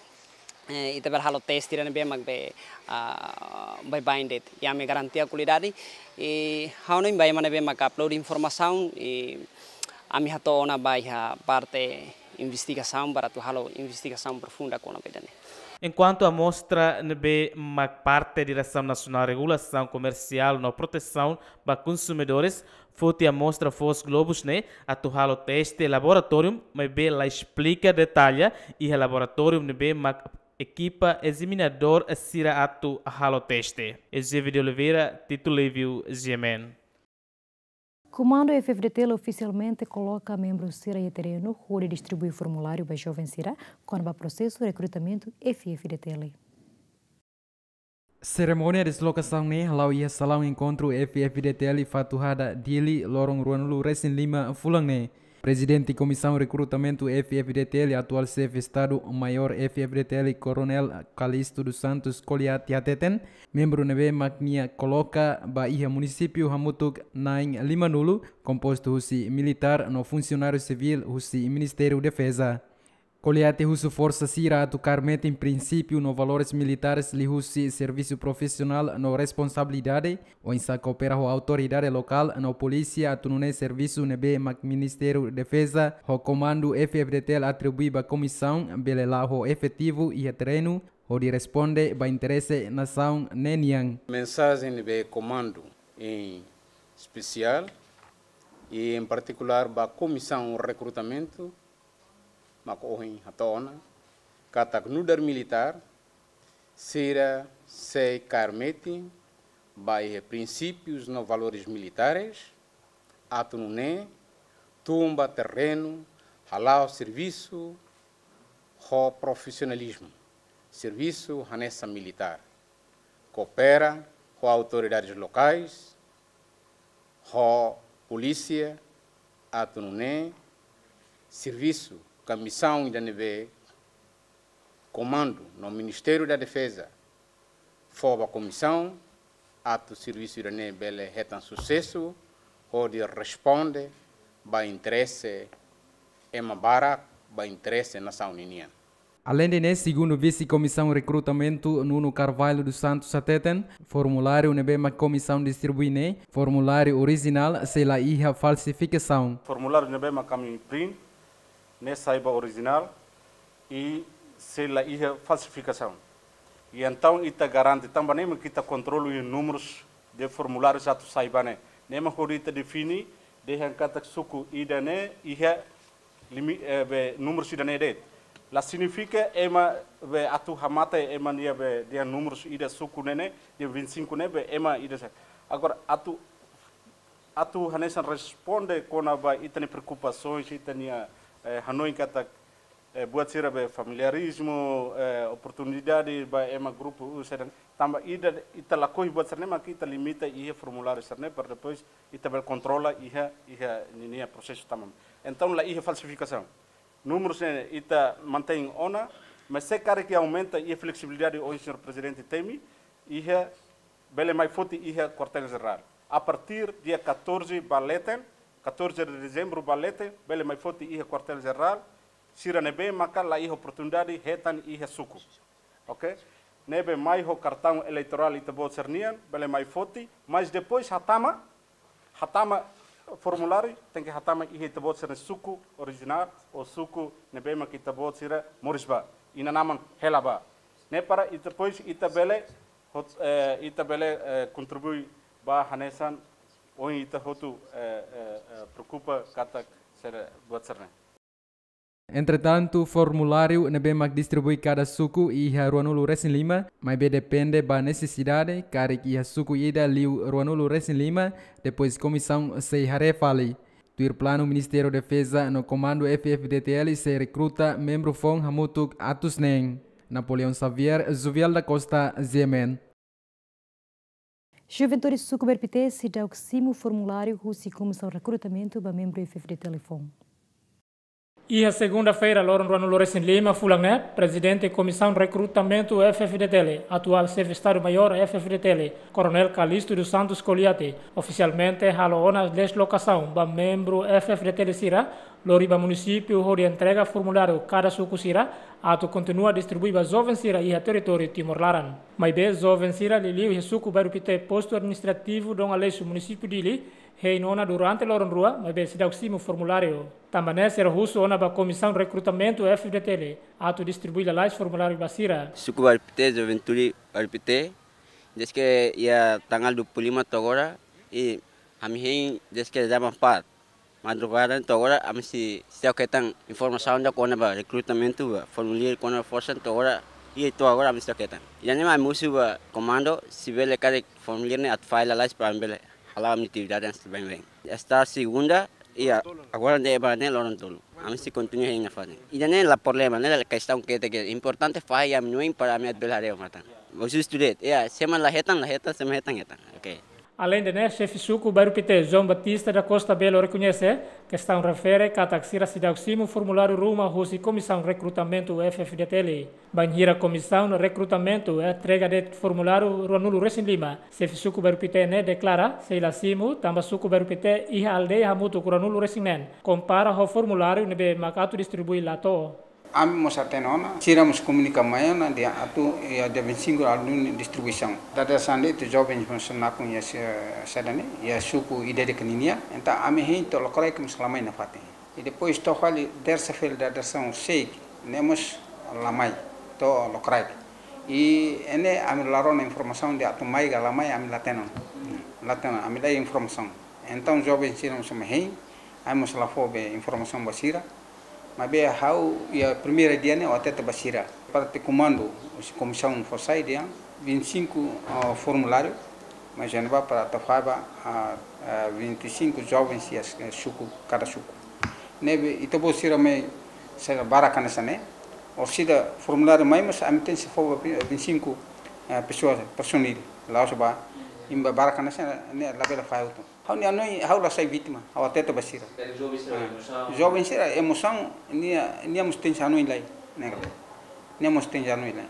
eh, ita bele halo teste ida ne'ebé mak be, ah, baibain de'it. I ami garantia kualidade. I ha'u hanoin ba ema ne'ebé mak upload informasaun, i ami hato'o ona ba iha parte investigasaun, para atu halo investigasaun profunda kona-ba ida-ne'e. Enkuantu amostra ne'ebé mak parte Diresaun Nasionál Regulasaun Komersiál no Protesaun ba Konsumidores foti amostra foos globus ne'e atu halo teste laboratóriu, maibé la esplika detalle iha laboratóriu ne'ebé mak ekipa ezaminadór sira atu halo teste. Eusébio de Oliveira, Tito Livio, G M N. Komandu F F D T L ofisialmente koloka membru sira iha terrenu hodi distribui formuláriu ba joven sira kona-ba prosesu rekrutamentu F F D T L. Serimónia deslokasaun ne'e hala'o iha salaun enkontru F F D T L Fatuhada, Dili, loron ruanulu-resin-lima fulan ne'e. Prezidente Komisaun Rekrutamentu F F D T L, atuál Xefe Estadu Maiór F F D T L, Koronél Calixto dos Santos Coliati hateten, membru ne'ebé mak nia koloka ba iha munisípiu hamutuk na'in limanulu, kompostu husi militár no funsionáriu sivíl husi Ministériu Defeza. Coliati husu forsa sira atu kaer metin prinsípiu no valores militares liuhusi servisu profisionál no responsabilidade, oinsá koopera ho autoridade lokál no polísia atu nune'e servisu ne'ebé mak Ministériu Defeza ho Komandu F F D T L atribui ba komisaun bele la'o ho efetivu iha terrenu hodi responde ba interese nasaun ne'e nian. Mensajen ne'ebé Komandu em especial e em particular ba Komisaun Rekrutamentu mak ohin hato'o ona katak nu'udar militár sira sei kaer metin ba iha prinsípius no valores militares, atu nune'e tun ba terrenu hala'o servisu ho profisionalizmu, servisu hanesan militár, koopera ho autoridades lokais, ho polísia, atu nune'e servisu ka misaun ida ne'ebé Komandu no Ministériu da Defeza fó ba komisaun, atu servisu ida-ne'e bele hetan susesu hodi responde ba interese ema barak, ba interese nasaun ninian. Aleinde ne'e, segundu Vise Komisaun Rekrutamentu, Nuno Carvalho dos Santos hateten, formuláriu ne'ebé mak komisaun distribui ne'e, formuláriu orijinál, sei la iha falsifikasaun. Formuláriu ne'ebé mak ami print ne'e sai ba orijinál i sei la iha falsifikasaun. I entaun ita garante tanba ne'e mak ita kontrola iha númerus de formulárius atu sai ba ne'e. Ne'e mak hodi ita define dehan katak suku ida-ne'e iha limi-, eh, be númerus ida-ne'e de'it. La signifika ema be atu hamate ema nia be dehan númerus ida suku ne'e ne'e, dehan vinte e cinco ne'e be ema ida sa. Agora atu, atu hanesan responde kona-ba ita-nia preokupasoens, ita-nia, eh, hanoin katak, eh, buat sira be familiarizmu, eh, oportunidade ba ema grupu U C dan tanba ida ita lakohi buat sira-ne'e mak ita limita iha formuláriu sira-ne'e para depois ita bele kontrola iha, iha ninia prosesu tama. Entaun la iha falsifikasaun. Númerus ne'e ita mantein ona, mas se karik aumenta iha fleksibilidade ohin señór Prezidente temi, iha bele mai foti iha Kuartél Jerál. A partir dia catorze ba leten, catorze de dezembro ba leten, bele mai foti iha Kuartél Jerál, sira ne'ebé maka la iha oportunidade hetan iha suku. Ok? Ne'ebé mai ho kartaun eleitorál ita-boot sira-nian, bele mai foti, mas depois hatama, hatama formuláriu, tenke hatama iha ita-boot sira-nia suku orijinál, ou suku ne'ebé mak ita-boot sira moris ba, inan-aman hela ba. Ne'e para ita depois ita bele, hot-, eh, ita bele, eh, kontribui ba hanesan ohin ita hotu, eh, eh, eh, preokupa katak sira buat sira-ne'e. Entretantu, formuláriu ne'ebé mak distribui kada suku iha ruanulu-resin-lima, maibé depende ba nesesidade, karik iha suku ida liu ruanulu-resin-lima, depois komisaun sei haree fali. Tuir planu, Ministériu Defeza no Komandu F F D T L sei rekruta membru foun hamutuk atus neen. Napoleão Xavier, Juvial da Costa, G M N. Juventude suku Merpité seidauk simu formuláriu husi Komisaun Rekrutamentu ba membru F F D T L foun. Iha segunda-feira, loron ruanulu-resin-lima fulan ne'e, Prezidente Komisaun Rekrutamentu F-FDTL, atuál Xefe Estadu-Maiór F-FDTL, Koronél Calixto dos Santos Coliate, ofisialmente halo ona deslokasaun ba membru F-FDTL sira, lori ba munisípiu hodi entrega formuláriu kada suku sira, atu kontinua distribui ba joven sira iha territóriu Timor laran. Maibé joven sira liuliu iha suku Bairru Pité, postu administrativu Dom Aleixo, munisípiu Dili, hein ona durante loron rua, maibé seidauk simu formuláriu. Tanba ne'e sira husu ona ba Komisaun Rekrutamentu F-FDTL atu distribui lalais formuláriu ba sira. Suku Bairru Pité, juventude Bairru Pité, dezde iha tanggal dua puluh lima to'o agora, i ami hein dezde jam empat madrugada to'o agora, ami sei, sei hetan informasaun ida kona-ba rekrutamentu, ba formuláriu kona-ba forsa to'o agora, i to'o agora ami sei hetan. Ida-ne'e mak ami husu ba komandu, se bele karik formuláriu ne'e atu fa'an lalais para ami bele hala'o ami-nia atividade hanesan baibain. Esta segunda, i agora ne'e ba ne'e loron tolu. Ami sei kontinua hein nafatin. Ida-ne'e la problema, ne'e la kestaun ketak, importante fahe iha ami-nia oin para ami atu bele haree ho matan. Husu student, ya, se ema la hetan, la hetan, se ema hetan, hetan. Oke. Aleinde ne'e, Xefe Suku Bairru Pité, João Batista da Costa Belo, rekoñese kestaun refere katak sira seidauk simu formuláriu ruma husi Komisaun Rekrutamentu F-FDTL. Bainhira Komisaun Rekrutamentu entrega de'it formuláriu ruanulu-resin-lima, Xefe Suku Bairru Pité ne'e deklara sei la simu, tanba Suku Bairru Pité iha aldeia hamutuk ruanulu-resin-neen, kompara ho formuláriu ne'ebé mak atu distribui la to'o. Ami mós hatene ona, sira mós komunika mai ona, dehan atu iha dia vinte e cinco atu duni distribuisaun. Dadeer-saan de'it joven mós nakonu iha se-, saida ne'e, iha suku ida-idak ninian, entaun ami hein to'o lokraik mós la mai nafatin. I depois to'o fali tersa-feira dadeer-saan seik, ne'e mós la mai to'o lokraik. I ne'e ami la rona informasaun dehan atu mai ka la mai, ami la hatene ona. La hatene ona, ami la iha informasaun. Entaun joven sira mós mai hein, ami mós la fó be informasaun ba sira. Maibé ha'u iha primeira dia ne'e ha'u hatete ba sira. Parte komandu, husi komisaun fó sai dehan vinte e cinco, ah, formuláriu, mas já não vai para atu fa'an ba, ah, ah, vinte e cinco jovens iha, eh, suku, kada suku. Ne'ebé ita-boot sira mai, sira barak hanesan ne'e, orsida formuláriu mai, mas ami tenke fó ba vinte e cinco, eh, pessoas, personil. La'ós ba, ema barak hanesan ne'e, labele fa'an hotu. Ha'u-nia hanoin, ha'u la sai vítima, ha'u hatete ba sira. Joven sira, ah, emosaun. Joven sira, emosaun, nia, nia mós tenke hanoin lai, ne'e ka. Nia mós tenke hanoin lai.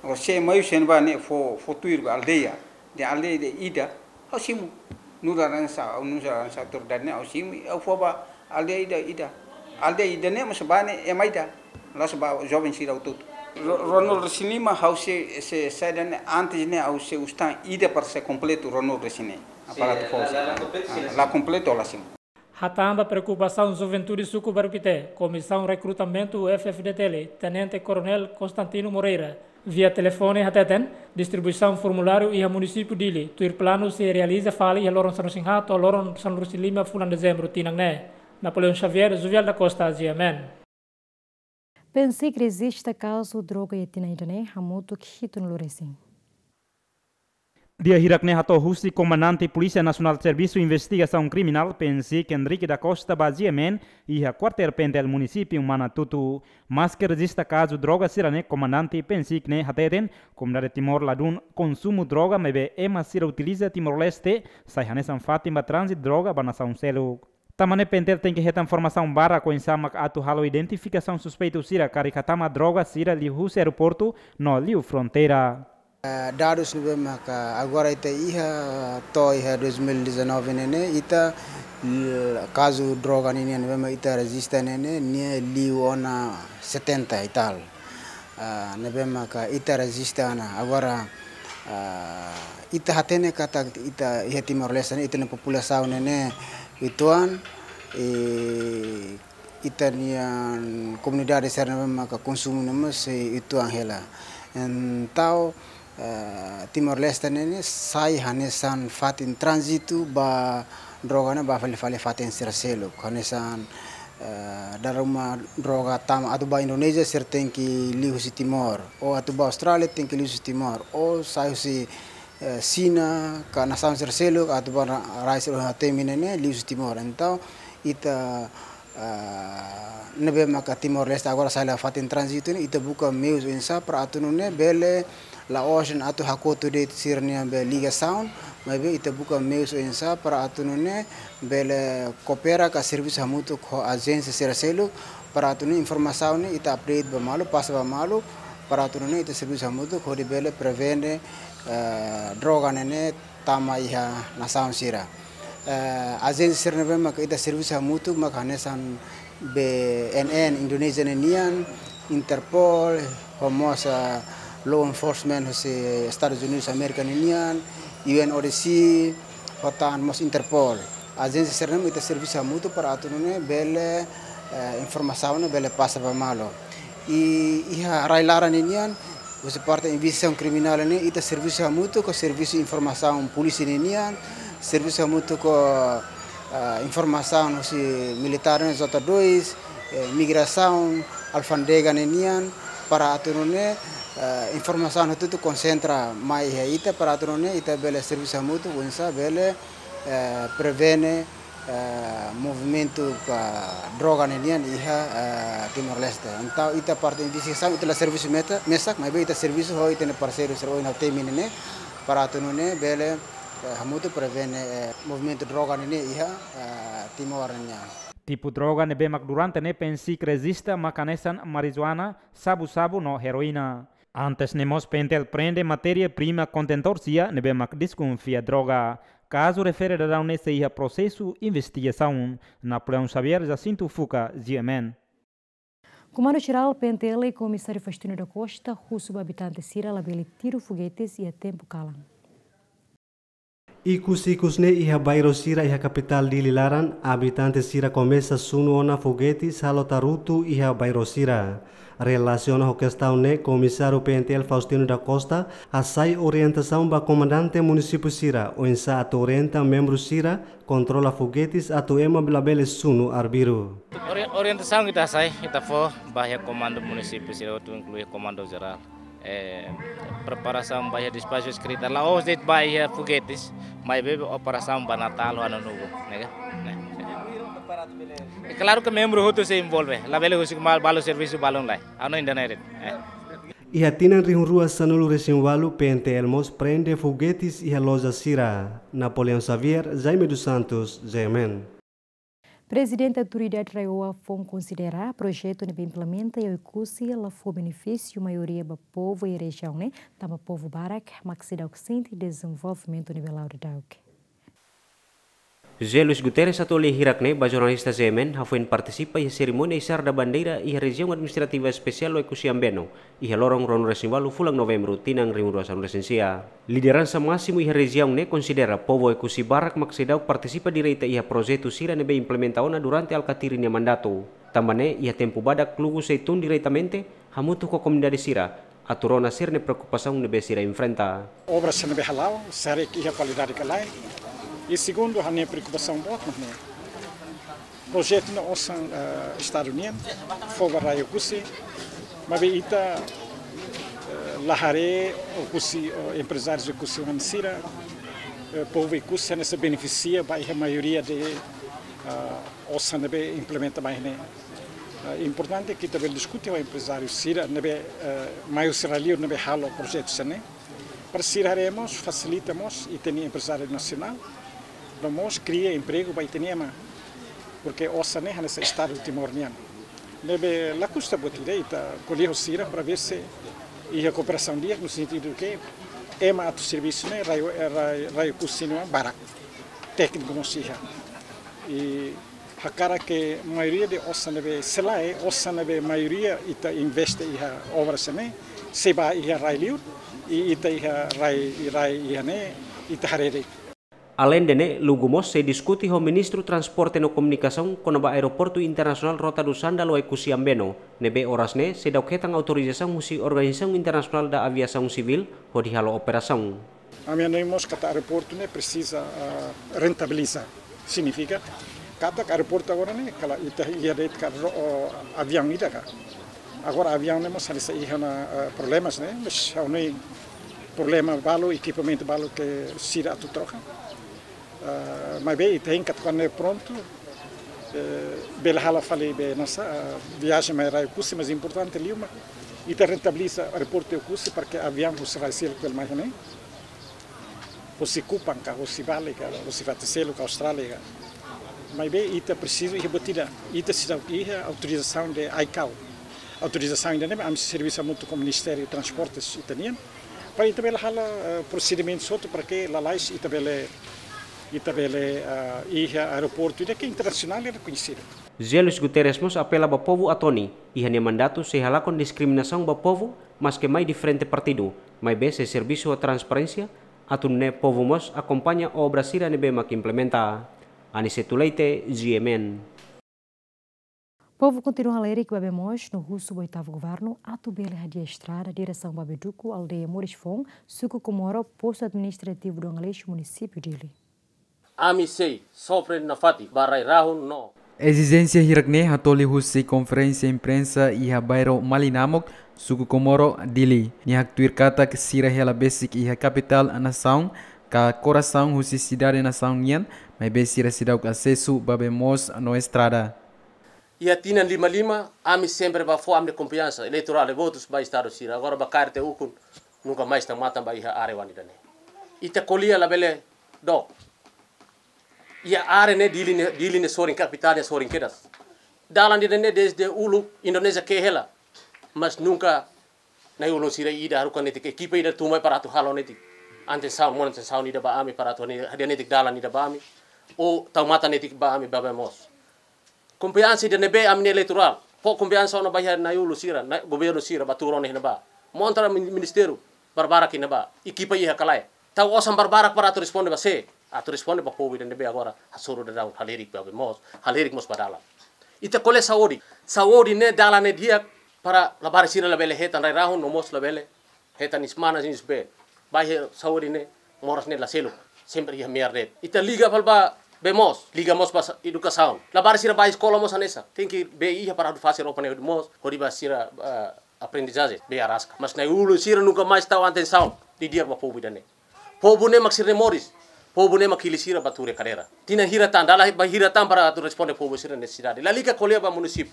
Agora, se mai husi ne'ebá ne'e fó, fó tuir ba aldeia, dehan aldeia ida, ha'u simu. Nu'udar hanesan, ha'u nu'udar hanesan autoridade ne'e, ha'u simu, ha'u fó ba aldeia ida, ida. Aldeia ida ne'e mós ba ne'e ema ida. La'ós ba joven sira hotu-hotu. Ro-, ruanulu-resin-lima, ha'u sei, sei, saida ne'e, antes ne'e, ha'u sei husu tan ida para ser kompletu ruanulu-resin-neen. Aparato forsa. La, la kompletu, ah, la kompletu, la simu. Hatán ba preokupasaun juventude suku Bairru Pité, Komisaun Rekrutamentu F-FDTL, Tenente Koronél Constantino Moreira, via telefone hateten, distribuisaun formuláriu iha munisípiu Dili, tuir planu sei realiza fali iha loron sanulu-resin-haat to'o loron sanulu-resin-lima fulan Dezembru tinan ne'e. Napoleão Xavier, Juvial da Costa, G M N. PNCIC rejista kazu droga iha tinan ida-ne'e hamutuk hitunulu-resin. Di'ak hirak ne'e hato'o husi Komandante Polísia Nasionál Servisu Investigasaun Kriminál, PNCIC, Henrique da Costa ba G M N, iha Kuartél PNTL Munisípiu Manatuto. Maske rejista kazu droga sira-ne'e, Komandante PNCIC ne'e hateten, komunidade Timor ladún konsumu droga, maibé ema sira utiliza Timor-Leste, sai hanesan fatin ba tránzitu droga ba nasaun seluk. Tanba ne'e PNTL tenke hetan formasaun barak oinsá mak atu halo identifikasaun suspeitu sira karik hatama droga sira liuhusi aeroportu no liu fronteira. Eh, dadus ne'ebé maka agora ita iha to'o iha dois mil e dezanove ne'e ne'e, ita, l-, kazu droga ninian ne'ebé mak ita rejista ne'e ne'e, nia liu ona setenta e tal. Ah, ne'ebé maka ita rejista ona. Agora, ah, ita hatene katak ita iha Timor-Leste ne'e, ita-nia populasaun ne'e ne'e uitoan, i ita-nia komunidade sira ne'ebé maka konsumu ne'e mós sei uitoan hela. Entaun, eh, Timor-Leste ne'e ne'e sai hanesan fatin tránzitu ba droga ne'e ba fali-fali fatin sira seluk. Hanesan, eh, dala ruma droga tama atu ba Indonézia sira tenke liu husi Timor. Ou atu ba Austrália tenke liu husi Timor. Ou sai husi, eh, Xina, ka nasaun sira seluk, atu ba ra-, rai sira iha temi ne'e ne'e liu husi Timor. Entaun, ita, ah, ne'ebé maka Timor-Leste agora sai la fatin tránzitu ne'e, ita buka meius oinsá para atu nune'e bele, La'ós atu hakotu de'it sira-nia be ligasaun, maibé ita buka meius oinsá para atu nune'e bele koopera ka servisu hamutuk ho ajénsia sira seluk, para atu nune'e informasaun ne'e ita update ba malu, pasa ba malu, para atu nune'e ita servisu hamutuk hodi bele prevene, eh, droga ne'e ne'e tama iha nasaun sira. Eh, ajénsia sira ne'ebé maka ita servisu hamutuk maka hanesan B N N Indonézia ne'e nian, Interpol, ho mós, eh, law enforcement husi Estadus Unidus Amérika ne'e nian, U N O D C, ho tan mós Interpol. Ajénsia sira ne'e ita servisu hamutuk para atu nune'e bele, eh, informasaun ne'e bele pasa ba malu. I iha rai-laran ne'e nian, husi parte investigasaun kriminál ne'e, ita servisu hamutuk ho servisu informasaun polísia ne'e nian, servisu hamutuk ho, ah, informasaun husi militár ne'e J dois, eh, migrasaun, alfándega ne'e nian, para atu nune'e, eh, informasaun hotu-hotu konsentra mai iha ita, para atu nune'e ita bele servisu hamutuk, oinsá bele, eh, prevene, eh, movimentu ka droga ne'e nian iha, eh, Timor-Leste. Entaun, ita parte investigasaun, ita la servisu meta, mesak, maibé ita servisu ho ita-nia parseiru sira ohin ha'u temi ne'e ne'e, para atu nune'e bele, eh, hamutuk prevene, eh, movimentu droga ne'e ne'e iha, eh, Timor ne'e nian. Tipu droga ne'ebé mak durante ne'e PNSIK rejista mak hanesan marijuana, sabu-sabu no heroína. Antes ne'e mós PNTL prende matéria-prima kontentór sira ne'ebé mak deskonfia droga. Kazu refere daudaun ne'e sei iha prosesu investigasaun. Napoleão Xavier, Jacinto Fuca, G M N. Komandu Jerál PNTL, Komisáriu Faustino da Costa, husu ba abitante sira labele tiru fogetes iha tempu kalan. Ikus-ikus ne'e iha bairru sira iha kapitál Dili laran, abitante sira komesa sunu ona fogetes halo tarutu iha bairru sira. Relasiona ho kestaun ne'e, Komisáriu PNTL Faustino da Costa hasai orientasaun ba komandante munisípiu sira, oinsá atu orienta membru sira kontrola fogetes atu ema labele sunu arbiru. Ori-, orientasaun ita hasai, ita fó ba iha komandu munisípiu sira hotu, inklui komandu jerál. Eh, preparasaun ba iha despaxu eskrita, la'ós de'it ba iha fogetes, maibé operasaun ba Natál ho Ano Novo, ne'e ka? Ne'e. E klaru ke membru hotu sei envolve, labele husik mal balu servisu balun lai. Ano inda ne'e de'it. Eh. Iha tinan rihun rua sanulu-resin-ualu PNTL mós prende fogetes iha loja sira. Napoleão Xavier, Jaime dos Santos, G M N. Prezidente Autoridade RAEOA foin konsidera projetu ne'ebé implementa iha Oekusi la fó benefísiu maioria ba povu iha rejiaun ne'e, tanba povu barak mak seidauk sente dezenvolvimentu ne'ebé la'o daudauk. José Luis Guterres atu lee hirak ne'e ba jornalista G M N hafoin partisipa iha serimónia isar da bandeira iha Rejiaun Administrativa Espesiál Oekusi Ambeno, iha loron ruanulu-resin-ualu fulan Novembru tinan rihun rua sanulu-resin-sia. Lideransa másimu iha rejiaun ne'e konsidera povu Oekusi barak mak seidauk partisipa direta iha projetu sira ne'ebé implementa ona durante Alkatiri nia mandatu. Tanba ne'e iha tempu badak kluku sei tun diretamente hamutuk ho komunidade sira atu rona sira-nia preokupasaun ne'ebé sira enfrenta. Obra sira ne'ebé hala'o, sira iha kualidade ka lae. I segundu, ha'u-nia preokupasaun boot mak ne'e. Projetu ne'e osan, eh, Estadu nian, fó ba rai Oekusi, maibé ita, eh, la haree Oekusi, eh, emprezáriu Oekusi-oan sira, eh, povu Oekusi hanesan benefisia ba iha maioria de, eh, osan ne'ebé implementa mai ne'e. Eh, importante ke ita bele diskute ho emprezáriu sira ne'ebé, eh, mai husi rai-liur ne'ebé halo projetu sira ne'e. Para sira haree mós, fasilita mós ita-nia emprezáriu nasionál, no mós kria empregu ba ita-nia ema. Porke osan ne'e hanesan Estadu Timor nian. Ne'ebé la kusta buat ida, ita ko'alia ho sira para ver se iha kooperasaun di'ak no sentidu ke ema atu servisu ne'e rai, rai, rai Oekusi nian barak. Tékniku mós iha. I hakarak ke maioria de osan ne'ebé sei lae, osan ne'ebé maioria ita investe iha obra sira ne'e, sei ba iha rai-liur, i ita iha rai, rai iha ne'e, ita haree de'it. Aleinde ne'e, lugu mós sei diskute ho Ministru Transporte no Komunikasaun kona-ba Aeroportu Internasionál Rota do Sândalo Oekusi Ambeno, ne'ebé oras ne'e seidauk hetan autorizasaun husi Organizasaun Internasionál da Aviasaun Sivíl hodi halo operasaun. Ami hanoin mós katak aeroportu ne'e presiza, ah, rentabiliza. Signifika katak aeroportu agora ne'e, kala ita iha de'it ka ro-, oh, aviaun ida ka. Agora aviaun ne'e mós hanesan iha ona, ah, problemas ne'e, mas ha'u hanoin problema balu, ekipamentu balu ke sira atu troka. Ah, maibé ita hein katak kuandu prontu, eh, bele halo fali be nasa, ah, viajen mai rai Oekusi, mas importante liu mak Ita rentabiliza aeroportu Oekusi para ke aviaun husi rai seluk bele mai iha ne'e. Husi Kupang ka, husi Bali ka, husi fatin seluk ka, Austrália ka. Maibé ita presiza iha buat ida, ita seidauk iha autorizasaun de ICAO. Autorizasaun ida-ne'e ami servisu hamutuk ho Ministériu Transportes ita-nian. Para ita bele halo, eh, prosedimentu hotu para ke lalais ita bele, ita bele, eh, iha aeroportu ida ke internasionál i rekoñesidu. José Luís Guterres mós apela ba povu Atoni, iha nia mandatu sei halakon diskriminasaun ba povu, maske mai diferente partidu, maibé sei servisu ho transparénsia, atu nune'e povu mós akompaña obra sira ne'ebé mak implementa. Aniceto Leite, G M N. Povu kontinua halerik ba bee moos no husu ba oitavu governu atu bele hadi'a estrada diresaun ba Beduku, aldeia Moris Foun, suku Komoro, postu administrativu Dom Aleixo, munisípiu Dili. Ami sei sofre nafatin ba rai-rahun no. Ezijénsia hirak-ne'e hatoli husi konferénsia imprensa iha bairru Malinamok, suku Komoro, Dili. Nia haktuir katak sira hela besik iha kapitál nasaun, ka korasaun husi sidade nasaun nian, maibé sira seidauk asesu ba bee moos no estrada. Iha tinan lima lima, ami sempre ba fó ami-nia konfiansa eleitorál i votus ba estadu sira. Agora ba kaer tiha ukun, nunka mais tau matan ba iha área oan ida-ne'e. Ita ko'alia labele dook. Iha área ne'e Dili ne'e, Dili ne'e sorin, kapitál ne'e sorin kedas. Dalan ida-ne'e desde uluk Indonézia ke'e hela. Mas nunka na'i-ulun sira ida haruka netik ekipa ida tun mai para atu halo netik. Anten saun, monu anten saun ida ba ami para atu hadi'a netik dalan ida ba ami. Ou tau matan netik ba ami ba bee moos. Konfiansa ida ne'ebé ami-nia eleitorál. Fó konfiansa ona ba iha na'i-ulun sira, na'i governu sira ba tuur ona iha ne'ebá. Monta min-, ministériu barbarak iha ne'ebá. Ekipa iha ka lae. Tau osan barbarak para atu responde ba sé? Atu responde ba povu ida ne'ebé agora hasoru daudaun, halerik ba bee moos, halerik mós ba dalan. Ita ko'alia saúde. Saúde ne'e dalan ne'e di'ak para labarik sira labele hetan rai-rahun no mós labele hetan iis manas iis bee. Ba iha saúde ne'e moras ne'e la seluk. Sempre iha me'ar de'it. Ita liga fali ba bee moos, liga mós ba sa-, edukasaun. Labarik sira ba eskola mós hanesan. Tenke bee iha para hodi fase roupa ne'e hodi moos, hodi ba sira, eh, aprendizajen, bee araska. Mas na'i-ulun sira nunka mais tau atensaun didi'ak ba povu ida-ne'e. Povu ne'e mak sira-nia moris. Povu ne'e mak hili sira ba tuur iha kadeira. Tinan hira tan, dala ba hira tan para atu responde povu sira-nia nesesidade. Lalika ko'alia ba munisípiu.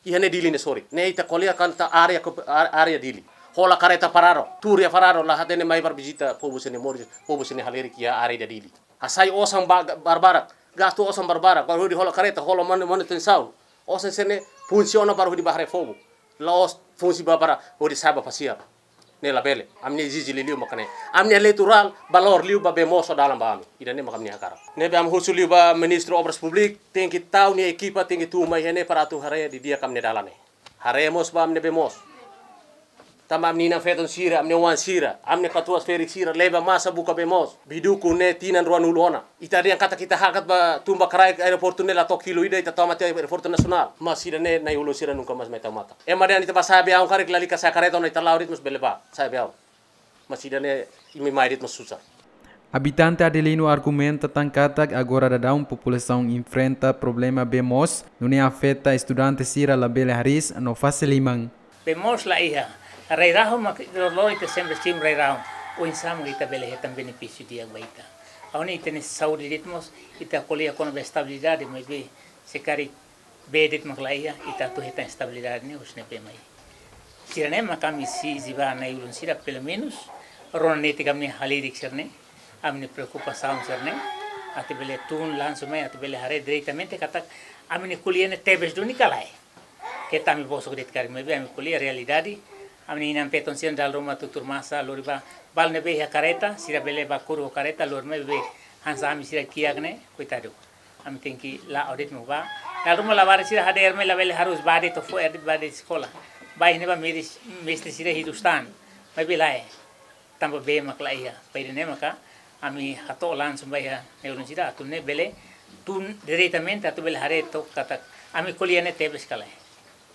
Iha ne'e Dili ne'e sorin. Ne'e ita ko'alia kona-ba área ko-, á-, área Dili. Hola kareta parado. Tuur iha parado la hatene mai para vizita povu sira-nia moris, povu sira-nia halerik iha área ida Dili. Hasai osan ba-, barbarak. Gastu osan barbarak. Para hodi hola kareta, hola manu-, manutensaun. Osan sira-ne'e funsiona para hodi ba haree fogu. La'ós funsi ba para hodi sa'e ba pasiar. Ne'e labele. Ami-nia ezije liuliu maka ne'e. Ami-nia eleitorál valór liu ba bee moos ho dalan ba ami. Ida-ne'e maka ami-nia hakarak. Ne'ebé ami husu liu ba Ministru Obras Públikas, tenke tau nia ekipa, tenke tun mai iha ne'e para atu haree didi'ak ami-nia dalan ne'e. Haree mós ba ami-nia bee moos. Tanba ami-nia inan-feton sira, ami-nia oan sira, ami-nia katuas ferik sira leba masa buka bee moos. Beduku ne'e tinan ruanulu ona. Ita dehan katak ita hakat ba tun ba kraik aeroportu ne'e la to'o kilu ida ita tau matan aeroportu nasionál. Mas ida-ne'e na'i-ulun sira nunka mais mai tau matan. Ema dehan ita ba sa'e bee aun karik lalika sa'e kareta ona ita la'o de'it mós bele ba sa'e bee aun. Mas ida-ne'e imi mai de'it mós susar. Abitante Adelino argumenta tan katak agora daudaun populasaun enfrenta problema bee moos, nune'e afeta estudante sira labele hariis no fase liman. Bee moos la iha. Rai-rahun mak loroloron ita sempre simu rai-rahun. Oinsá mak ita bele hetan benefísiu di'ak ba ita? Ha'u hanoin ita-nia saúde de'it mós, ita ko'alia kona-ba estabilidade, maibé se karik bee de'it mak la iha, ita atu hetan estabilidade ne'e husi ne'ebé mai? Sira-ne'e mak ami sei ezije ba na'i-ulun sira, pelumenus rona netik ami-nia halerik sira-ne'e, ami-nia preokupasaun sira-ne'e, atu bele tun langsung mai, atu bele haree diretamente katak ami-nia ko'alia ne'e tebes duni ka lae. Keta ami bosok de'it karik, maibé ami ko'alia realidade. Ami-nia inan-feton sira dala ruma tuur masa lori ba, balu ne'ebé iha kareta, sira bele ba kuru ho kareta, lori mai bee hanesan ami sira kiak ne'e, koitadu. Ami tenke la'o de'it mak ba. Dala ruma labarik sira hadeer mai labele hariis, ba de'it to'o fo'er de'it ba de'it eskola. Ba iha ne'ebá mestre, mestre sira hidup stan. Maibé lae. Tanba bee mak la iha. Ba ida-ne'e maka ami hato'o langsung ba iha na'i-ulun sira atu nune'e bele tun diretamente atu bele haree took katak ami ko'alia ne'e tebes ka lae.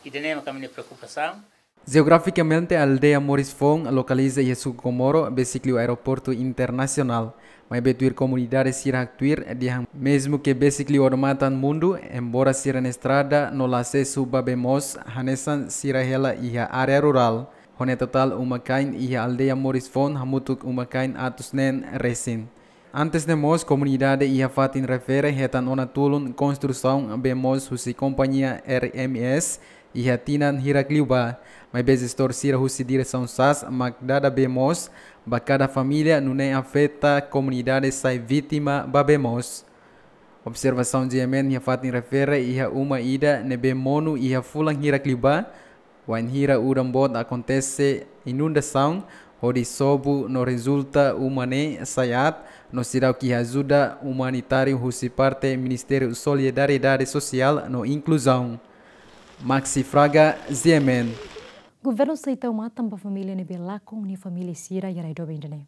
Ida-ne'e maka ami-nia preokupasaun. Jeografikamente, aldeia Moris Foun lokaliza iha suku Komoro, besik liu aeroportu internasionál. Maibé tuir komunidade sira haktuir dehan mezmu ke besik liu odamatan mundu, embora sira-nia estrada no la asesu ba bee moos, hanesan sira hela iha área rurál. Ho nia totál uma-kain iha aldeia Moris Foun hamutuk uma-kain atus neen resin. Antes ne'e mós komunidade iha fatin refere hetan ona tulun konstrusaun bee moos husi kompañia R M S, iha tinan hirak liubá, maibé jestór sira husi diresaun sas mak dada bee moos ba kada família, nune'e afeta komunidade sai vítima ba bee moos. Observasaun G M N iha fatin refere iha uma ida ne'ebé monu iha fulan hirak liubá, wainhira udan boot akontese inundasaun, hodi sobu no rezulta uma ne'e sai aat, no seidauk iha ajuda umanitáriu husi parte Ministériu Solidariedade Sosiál no Inkluzaun. Maxi Fraga, G M N. Governu sei tau matan ba família ne'ebé lakon nia família sira iha rai doben ida-ne'e.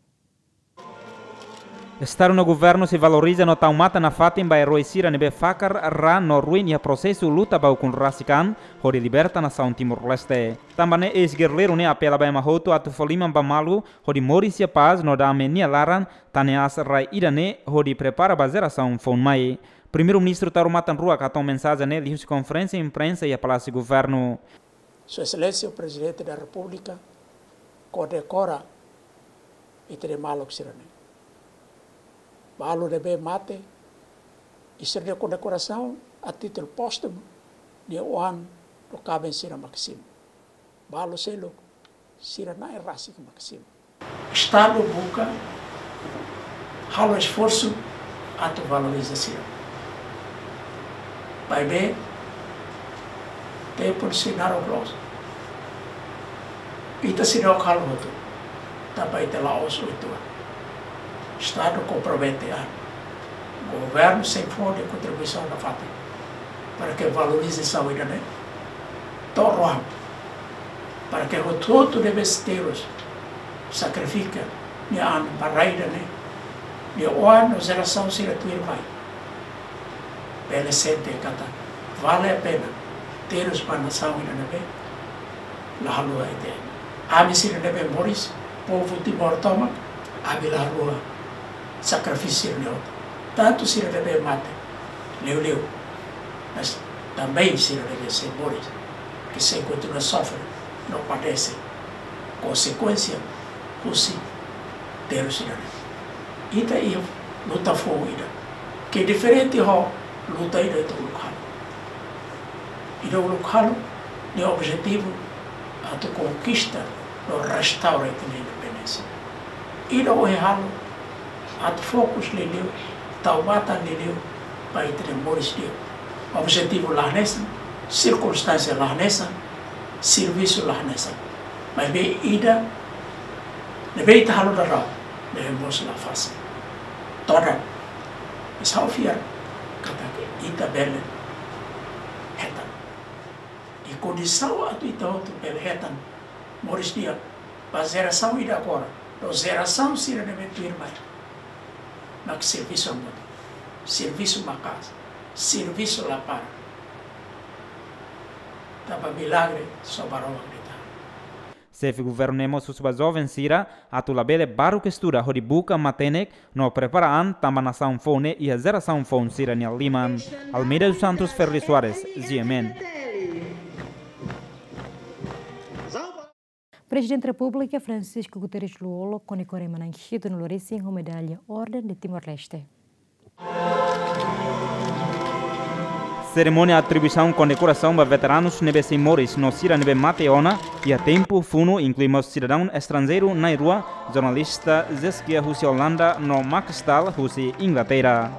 Estadu no governu sei valoriza no tau matan nafatin ba eroi sira ne'ebé fakar, raan no ruin iha prosesu luta ba ukun rasik an hodi liberta nasaun Timor-Leste. Tanba ne'e eis-gerrilleiru ne'e apela ba ema hotu atu fó liman ba malu hodi moris iha pás no dame nia laran, tan ne'e aas rai ida-ne'e hodi prepara ba jerasaun foun mai. Primeiru-Ministru Taur Matan Ruak hato'o mensajen ne'e liuhusi konferénsia imprensa iha Palásiu Governu. Sua Exelénsia Prezidente da Repúblika kondekora ita-nia maluk sira-ne'e. Balu ne'ebé mate, i sira-nia kondekorasaun a títulu póstumu, nia oan no kaben sira mak simu. Balu seluk, sira na'in rasik mak simu. Estadu buka halo esforsu atu valoriza sira. Maibé tempu sei naruk loos. Ita seidauk halo hotu, tanba ita la'ós oituan. Estadu kompromete an. Governu sei fó nia kontribuisaun nafatin para ke valorizasaun ida-ne'e to'o oan, para ke hotu-hotu ne'ebé terus sakrifika nia an ba rai ida-ne'e, nia oan no jerasaun sira tuirmai bele sente katak vale a pena terus ba nasaun ida ne'ebé la haluha ita. Ami sira ne'ebé moris, povu Timor tomak, ami la haluha sakrifísiu sira-ne'e hotu. Tantu sira ne'ebé mate liuliu, mas também sira ne'ebé sei moris, ke sei kontinua sofre no padese konsekuénsia husi terus sira-ne'e. Ita iha luta foun ida ke diferente ho luta ida ita uluk halo. Ida uluk halo nia objetivu atu konkista no restaura ita-nia independénsia. Ida ohin halo atu fokus liuliu, tau matan liuliu ba ita-nia moris di'ak. Objetivu la hanesan, sirkunstánsia la hanesan, servisu la hanesan. Maibé ida ne'ebé ita halo daudaun, ne'e mós la fasil. Todan, ita fiar katak ita bele hetan. I kondisaun atu ita hotu bele hetan moris di'ak ba jerasaun ida agora no jerasaun sira ne'ebé tuirmai, mak servisu hamutuk, servisu maka'as, servisu la para. Tanba milagre só Maromak de'it. Xefe governu ne'e mós husu ba joven sira atu labele baruk estuda hodi buka matenek no prepara an tanba nasaun foun ne'e iha jerasaun foun sira-nia liman. Almeida dos Santos, Ferri Soares, G M N. Prezidente Repúblika Francisco Guterres Lú-Olo kondekora ema na'in hitunulu-resin ho medalla Orden de Timor-Leste. Serimónia atribuisaun kondekorasaun ba veteranus ne'ebé sei moris no sira ne'ebé mate ona iha tempu funu inklui mós sidadaun estranjeiru na'in-rua, jornalista Zeskia husi Olanda no Max Staal husi Inglaterra.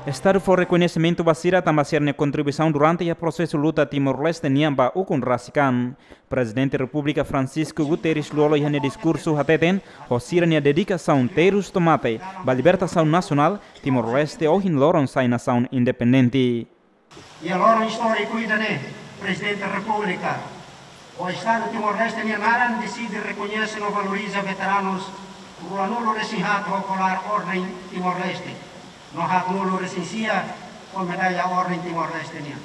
Estadu fó rekoñesimentu ba sira tanba sira-nia kontribuisaun durante iha prosesu luta Timor-Leste nian ba ukun rasik an. Prezidente Repúblika Francisco Guterres Lú-Olo iha nia diskursu hateten, ho sira-nia dedikasaun terus to'o mate ba libertasaun nasionál, Timor-Leste ohin loron sai nasaun independente. Iha loron istóriku ida-ne'e, Prezidente Repúblika, ho Estadu Timor-Leste nia naran, deside rekoñese no valoriza veteranus ruanulu-resin-haat ho kolar Orden Timor-Leste, no haatnulu-resin-sia ho medalla Orden Timor-Leste nian,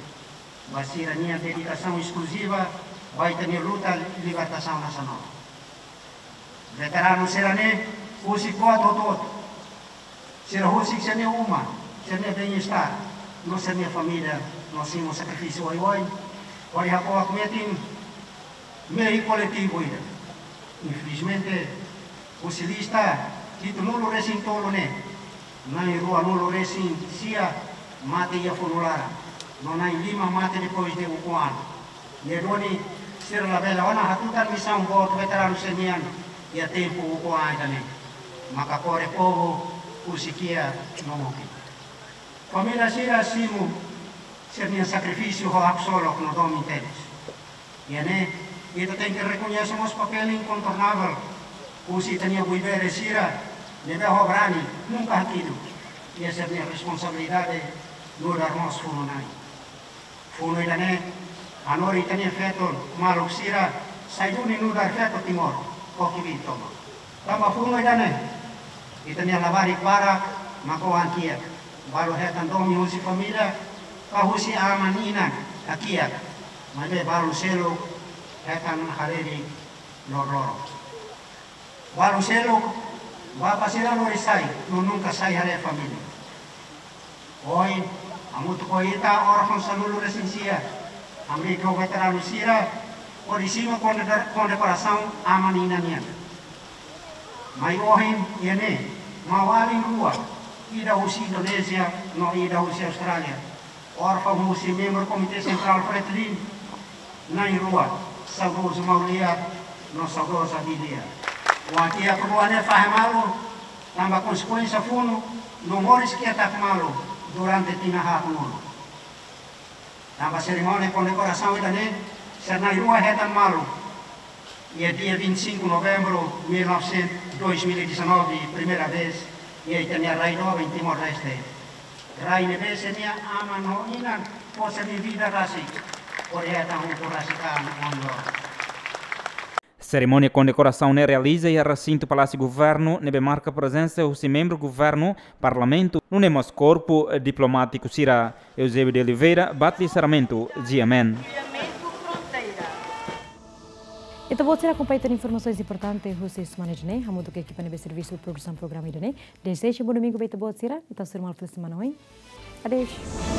ba sira-nia dedikasaun eskluziva ba ita-nia luta libertasaun nasionál. Veteranu sira-ne'e husik buat hotu-hotu. Sira husik sira-nia uma, sira-nia bem-estar, no sira-nia família, no simu sakrifísiu oioin, hodi hako'ak metin mehi koletivu ida. Infelizmente, husi lista hitunulu-resin-tolu ne'e, na'in ruanulu-resin-sia mate iha funu laran, no na'in lima mate depois de ukun an. Iha duni sira labele ona hatutan misaun boot veteranu sira-nian iha tempu ukun-an ida-ne'e. Maka kore povu husi kiak no mukit. Família sira simu sira-nia sakrifísiu ho haksolok no domin tebes. Iha ne'e, ita tenke rekoñese mós papél inkontornável husi ita-nia buibere sira ne'ebé ho brani nunka hakidu iha sira-nia responsabilidade nu'udar mós funu-na'in. Funu ida-ne'e hanorin ita-nia feto maluk sira sai duni nu'udar feto Timor ho kbiit tomak. Tanba funu ida-ne'e, ita-nia labarik barak mak oan kiak, balu hetan domin husi família ka husi aman-inan hakiak, maibé balu seluk hetan haree loroloron. Balu seluk, bapa sira lori sai no nunka sai haree família. Ohin, hamutuk ho ita órfaun sanulu-resin-sia, hamriik ho veteranu sira hodi simu konde-, kondekorasaun aman-inan nian. Mai ohin, iha ne'e, maun-alin rua, ida husi Indonézia no ida husi Austrália, órfaun husi membru Komité Sentrál Fretilin, na'in-rua, saudozu Maulia no saudoza Bilia. Oan kiak rua ne'e fahe malu tanba konsekuénsia funu no moris ketak malu durante tinan haatnulu. Tanba serimónia kondekorasaun ida-ne'e, sira na'in-rua hetan malu iha dia vinte e cinco novembro mil novecentos, dois mil e dezanove, primeira vez iha ita-nia rai doben Timor-Leste. Rai ne'ebé sira-nia aman no inan fó sira-nia vida rasik hodi hetan ukun rasik an ohin loron. Serimónia kondekorasaun ne'e realiza iha resintu Palásiu Governu, ne'ebé marka prezensa husi membru governu, parlamentu, nune'e mós korpu diplomátiku sira. Eusébio de Oliveira, Batli Sarmento, G M N. Ita-boot sira akompaña tan informasaun importante husi semana ida-ne'e, hamutuk ho ekipa ne'ebé servisu produsaun programa ida-ne'e. Dezeja bom domingu ba ita-boot sira, ita sei hasoru malu fali semana oin. Adeus.